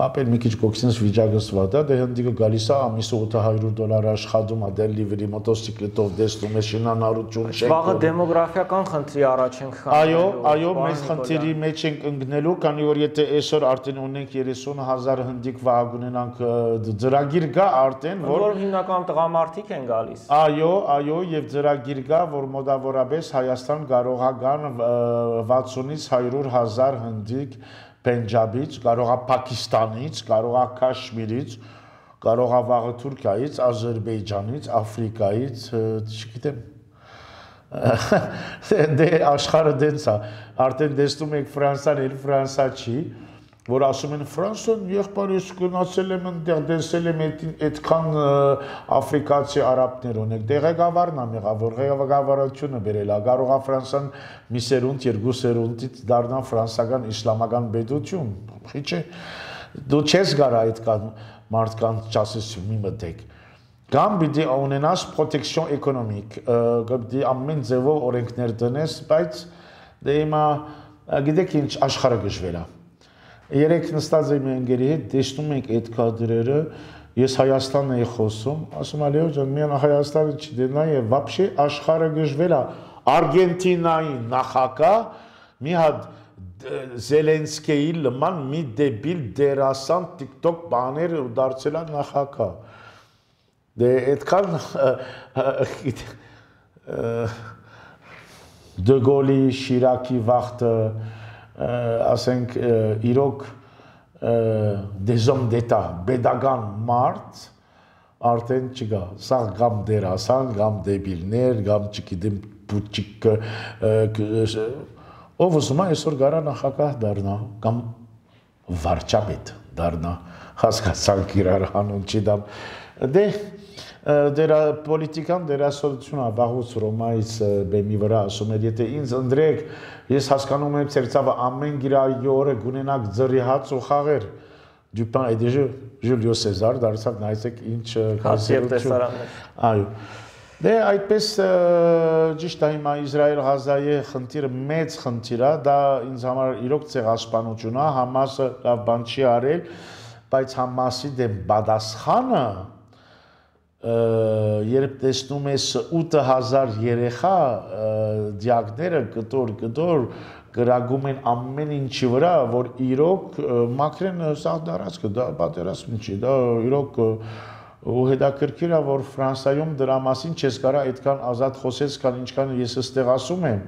ապել մի քիչ կոքսինս վիճակս վատա դե հնդիկը գալիս է ամիսը $800 աշխատում է դելիվերի մոտոցիկլետով դեստում է շինանառություն չեք Վաղը դեմոգրաֆիական խնդրի առաջ ենք Այո մեծ խնդրի մեջ ենք ընկնելու քանի որ եթե այսօր արդեն ունենք 30,000 հնդիկ վահ ունենանք ծրագիր կա արդեն որ հիմնականում տղամարդիկ են գալիս Այո եւ ծրագիր կա որ մոտավորապես Հայաստան կարող է գան 60-ից 100,000 հնդիկ Պենջաբից, կարող է Պակիստանից, կարող է Քաշմիրից, կարող է վաղը Թուրքիայից, Ադրբեջանից, Աֆրիկայից, չգիտեմ։ Դե աշխարհը դենց է, արդեն տեսնում եք Ֆրանսիան, էլ Ֆրանսիա չի, որ ասում են Ֆրանսիան եղբայրս գնացել եմ այնտեղ տեսել եմ այդքան աֆրիկացի արաբներ ունեք, դե ղեկավարն է եղավ, որ ղեկավարությունը բերել է, կարող է Ֆրանսիան մի սերունդ, երկու սերունդից դառնա ֆրանսիական իսլամական պետություն, չէ, դու չես գարա այդքան մարդկանց չասես մի մտեք, կամ պիտի ունենաս պրոտեկցիոն էկոնոմիկ, պիտի ամեն ձևով օրենքներ տնես, բայց դե հիմա գիտեք ինչ աշխարհը գժվել է։ Երեք նստած եմ ընկերի հետ, տեսնում ենք այդ կադրերը, ես Հայաստանն էի խոսում, ասում եմ Լեո ջան, միան Հայաստանը չդենա եւ вообще աշխարհը գժվել է, Արգենտինայի նախագահ մի հատ Զելենսկիի նման մի դեբիլ դերասան TikTok բաներ ու դարձել է նախագահ։ Դե այդքան Դե Գոլի, Շիրակի վախտը ասենք իրոք դեզոմ դետա բեդական մարդ արդեն չկա, սա կամ դերասան, կամ դեբիլներ, կամ չգիտեմ բուտիկ ով ուզում է այսօր գարա նախագահ դառնա կամ վարչապետ դառնա, հասկացանք իրար հանուն չդամ, դե դերա պոլիտիկան դերասանությունն է վաղուց Ռոմայից բեմի վրա ասում էր, եթե ինձ ընդրեք, ես հասկանում եմ ծերծավը ամեն գիրայի օրը գունենակ ձրի հաց ու խաղեր, Դյուպան et déjà Ժուլիո Սեզար դարձավ նայեցեք ինչ տեսարաններ։ Այո։ Դե այդպես ճիշտ է հիմա Իսրայել-Ղազայի խնդիրը մեծ խնդիր է, դա ինձ համար իրոք ցեղասպանություն է, Համասը լավ բան չի արել, բայց Համասի դեմ պատասխանը երբ տեսնում ես 8000 երեխա դիակները կտոր գրագում են ամեն ինչի վրա, որ իրոք մաքրեն սա դարածքը, դա պատերազմ չի, դա իրոք ու հետաքրքիր է, որ Ֆրանսիայում դրա մասին չես կարա այդքան ազատ խոսես, քան ինչքան ես այստեղ ասում եմ,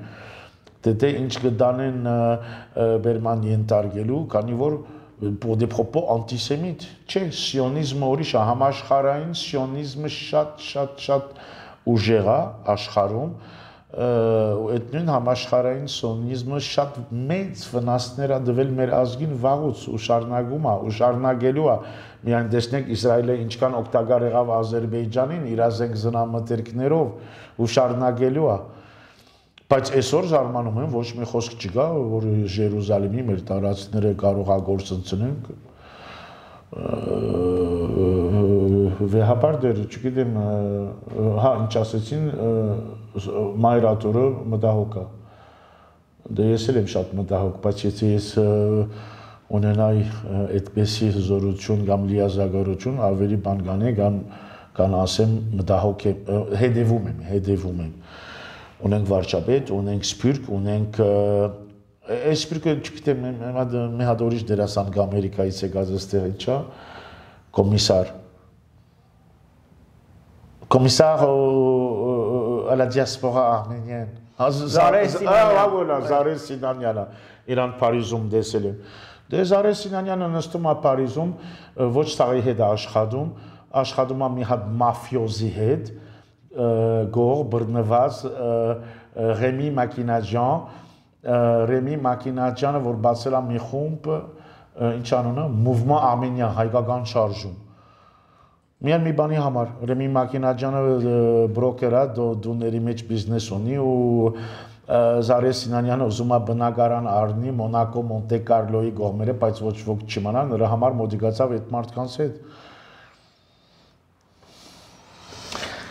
դե ինչ կդանեն բերման ենթարկելու, քանի որ des propos antisémites, չէ, սիոնիզմը ուրիշ է, համաշխարհային սիոնիզմը շատ ուժեղ է աշխարհում, այդ նույն համաշխարհային սիոնիզմը շատ մեծ վնասներ է տվել մեր ազգին վաղուց ու շարունակում է, ու շարունակելու է, միայն տեսնենք Իսրայելը ինչքան օգտակար եղավ Ադրբեջանին իր ազգ զնամթերքներով ու շարունակելու է, բայց այսօր զարմանում եմ ոչ մի խոսք չկա, որ Երուսաղեմի մեր տարածքները կարող է գործընծնենք, վեհապար դեր, չգիտեմ, հա, ինչ ասեցին, մայրատորը մտահոգ է, դե ես էլ եմ շատ մտահոգ, բայց եթե ես ունենայի այդպեսի զորություն կամ լիազագորություն, ավելի բան կան ասեմ մտահոգ եմ, հետևում եմ, ունենք վարչապետ, ունենք սպյուրք, ունենք այս սպյուրքը չգիտեմ, մի հատ ուրիշ դերասան Ամերիկայից եկած այստեղ ինչա, Commissaire à la diaspora arménienne. Զարե Սինանյանը, իրան Փարիզում տեսել եմ։ Դե Զարե Սինանյանը նստում է Փարիզում, ոչ ցաղի հետ է աշխատում է մի հատ մաֆիոզի հետ, գող բռնված Ռեմի Մակինաջյանը, որ բացել է մի խումբ, ինչ անունը, Mouvement Arménien, հայկական շարժում։ Միայն մի բանի համար, Ռեմի Մակինաջյանը բրոկեր է, դուների մեջ բիզնես ունի ու Զարե Սինանյանը ուզում է բնակարան առնի Մոնակո, Մոնտե Կարլոյի կողմերը, բայց ոչ ոք չիմանա, նրա համար մոդիկացավ այդ մարդկանց հետ։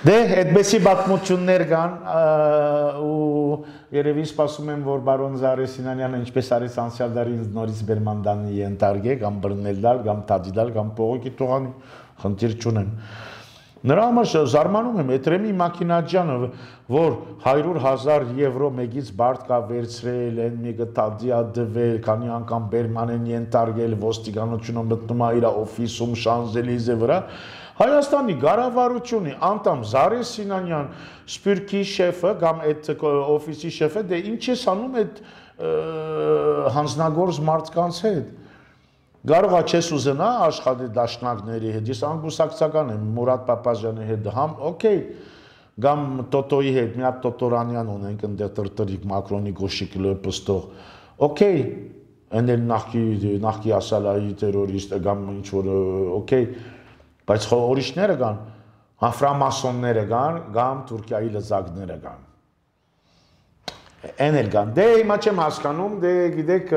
Դե, այդպեսի պատմություններ կան ու երևի սպասում եմ, որ բարոն Զարե Սինանյանը ինչպես արեց անցյալ դարի ինձ նորից բերմանդանի ենթարկե, կամ բռնել դալ, կամ տադի դալ, կամ փողոքի տողանի, խնդիր չունեմ։ Նրա համար զարմանում եմ, այդ Ռեմի Մակինաջյանը, որ 100,000 եվրո մեկից բարդ կա վերցրել, են մեկը տադի ա դվել, քանի անգամ բերման են ենթարկել, ոստիկանությունը մտնում է իր օֆիսում Շանզելիզե վրա, Հայաստանի ղարավարությունը անդամ Զարե Սինանյան, Սպյուրքի շեֆը կամ այդ օֆիսի շեֆը, դե ինչ է անում այդ հանձնագործ մարդկանց հետ։ Կարող է չես ուզենա աշխատի դաշնակների հետ, ես անգուսակցական եմ Մուրադ Պապազյանի հետ, համ օքեյ, գամ Տոտոյի հետ, մի հատ Տոտորանյան ունենք ընդեղ տրտրիկ Մակրոնի գոշիկ լպստող, օքեյ, ընդել նախկի ասալայի տերորիստ, գամ ինչ-որ, օքեյ, բայց ուրիշները կան, ֆրամասոնները կան, գամ Թուրքիայի լծակները կան։ Են էլ կան, դե հիմա չեմ հասկանում, դե գիտեք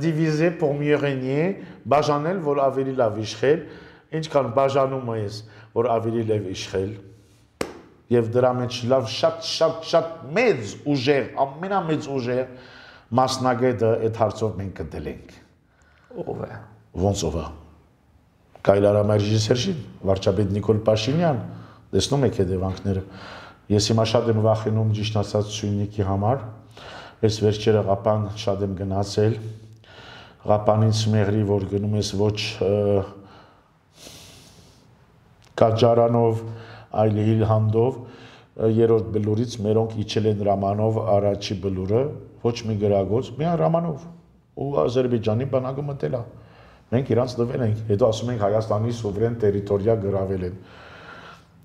դիվիզե pour mieux régner, բաժանել, որ ավելի լավ իշխել, ինչքան բաժանում ես, որ ավելի լավ իշխել, եւ դրա մեջ լավ շատ մեծ ուժեր, ամենամեծ ուժեր մասնագետը այդ հարցով մենք գտել ենք։ Ո՞վ է։ Ոնց ով է։ Կայլարամայր ռեժիսորին, վարչապետ Նիկոլ Փաշինյան, տեսնում եք հետևանքները։ Ես հիմա շատ եմ վախենում ճիշտ ասած Սյունիքի համար, ես վերջերը Ղապան շատ եմ գնացել, Ղապանից մեղրի, որ գնում ես ոչ Կաջարանով, այլ Հիլհանդով, երրորդ բլուրից մերոնք իջել են Ռամանով առաջի բլուրը, ոչ մի գրագոց, միայն Ռամանով, ու Ադրբեջանի բանակը մտել է, մենք իրանց տվել ենք, հետո ասում ենք Հայաստանի սուվերեն տերիտորիա գրավել են։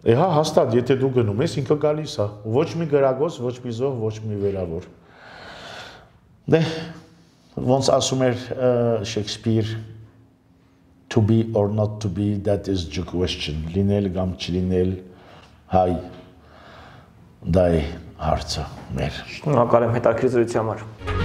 Հա, հաստատ, եթե դու գնում ես, ինքը գալիս է, ոչ մի գրագոց, ոչ մի զոհ, ոչ մի վերավոր։ Դե, ոնց ասում էր Շեքսպիր, to be or not to be, that is the question, լինել կամ չլինել, հայ, դա է հարցը մեր։ Շնորհակալ եմ հետաքրքիր զրույցի համար։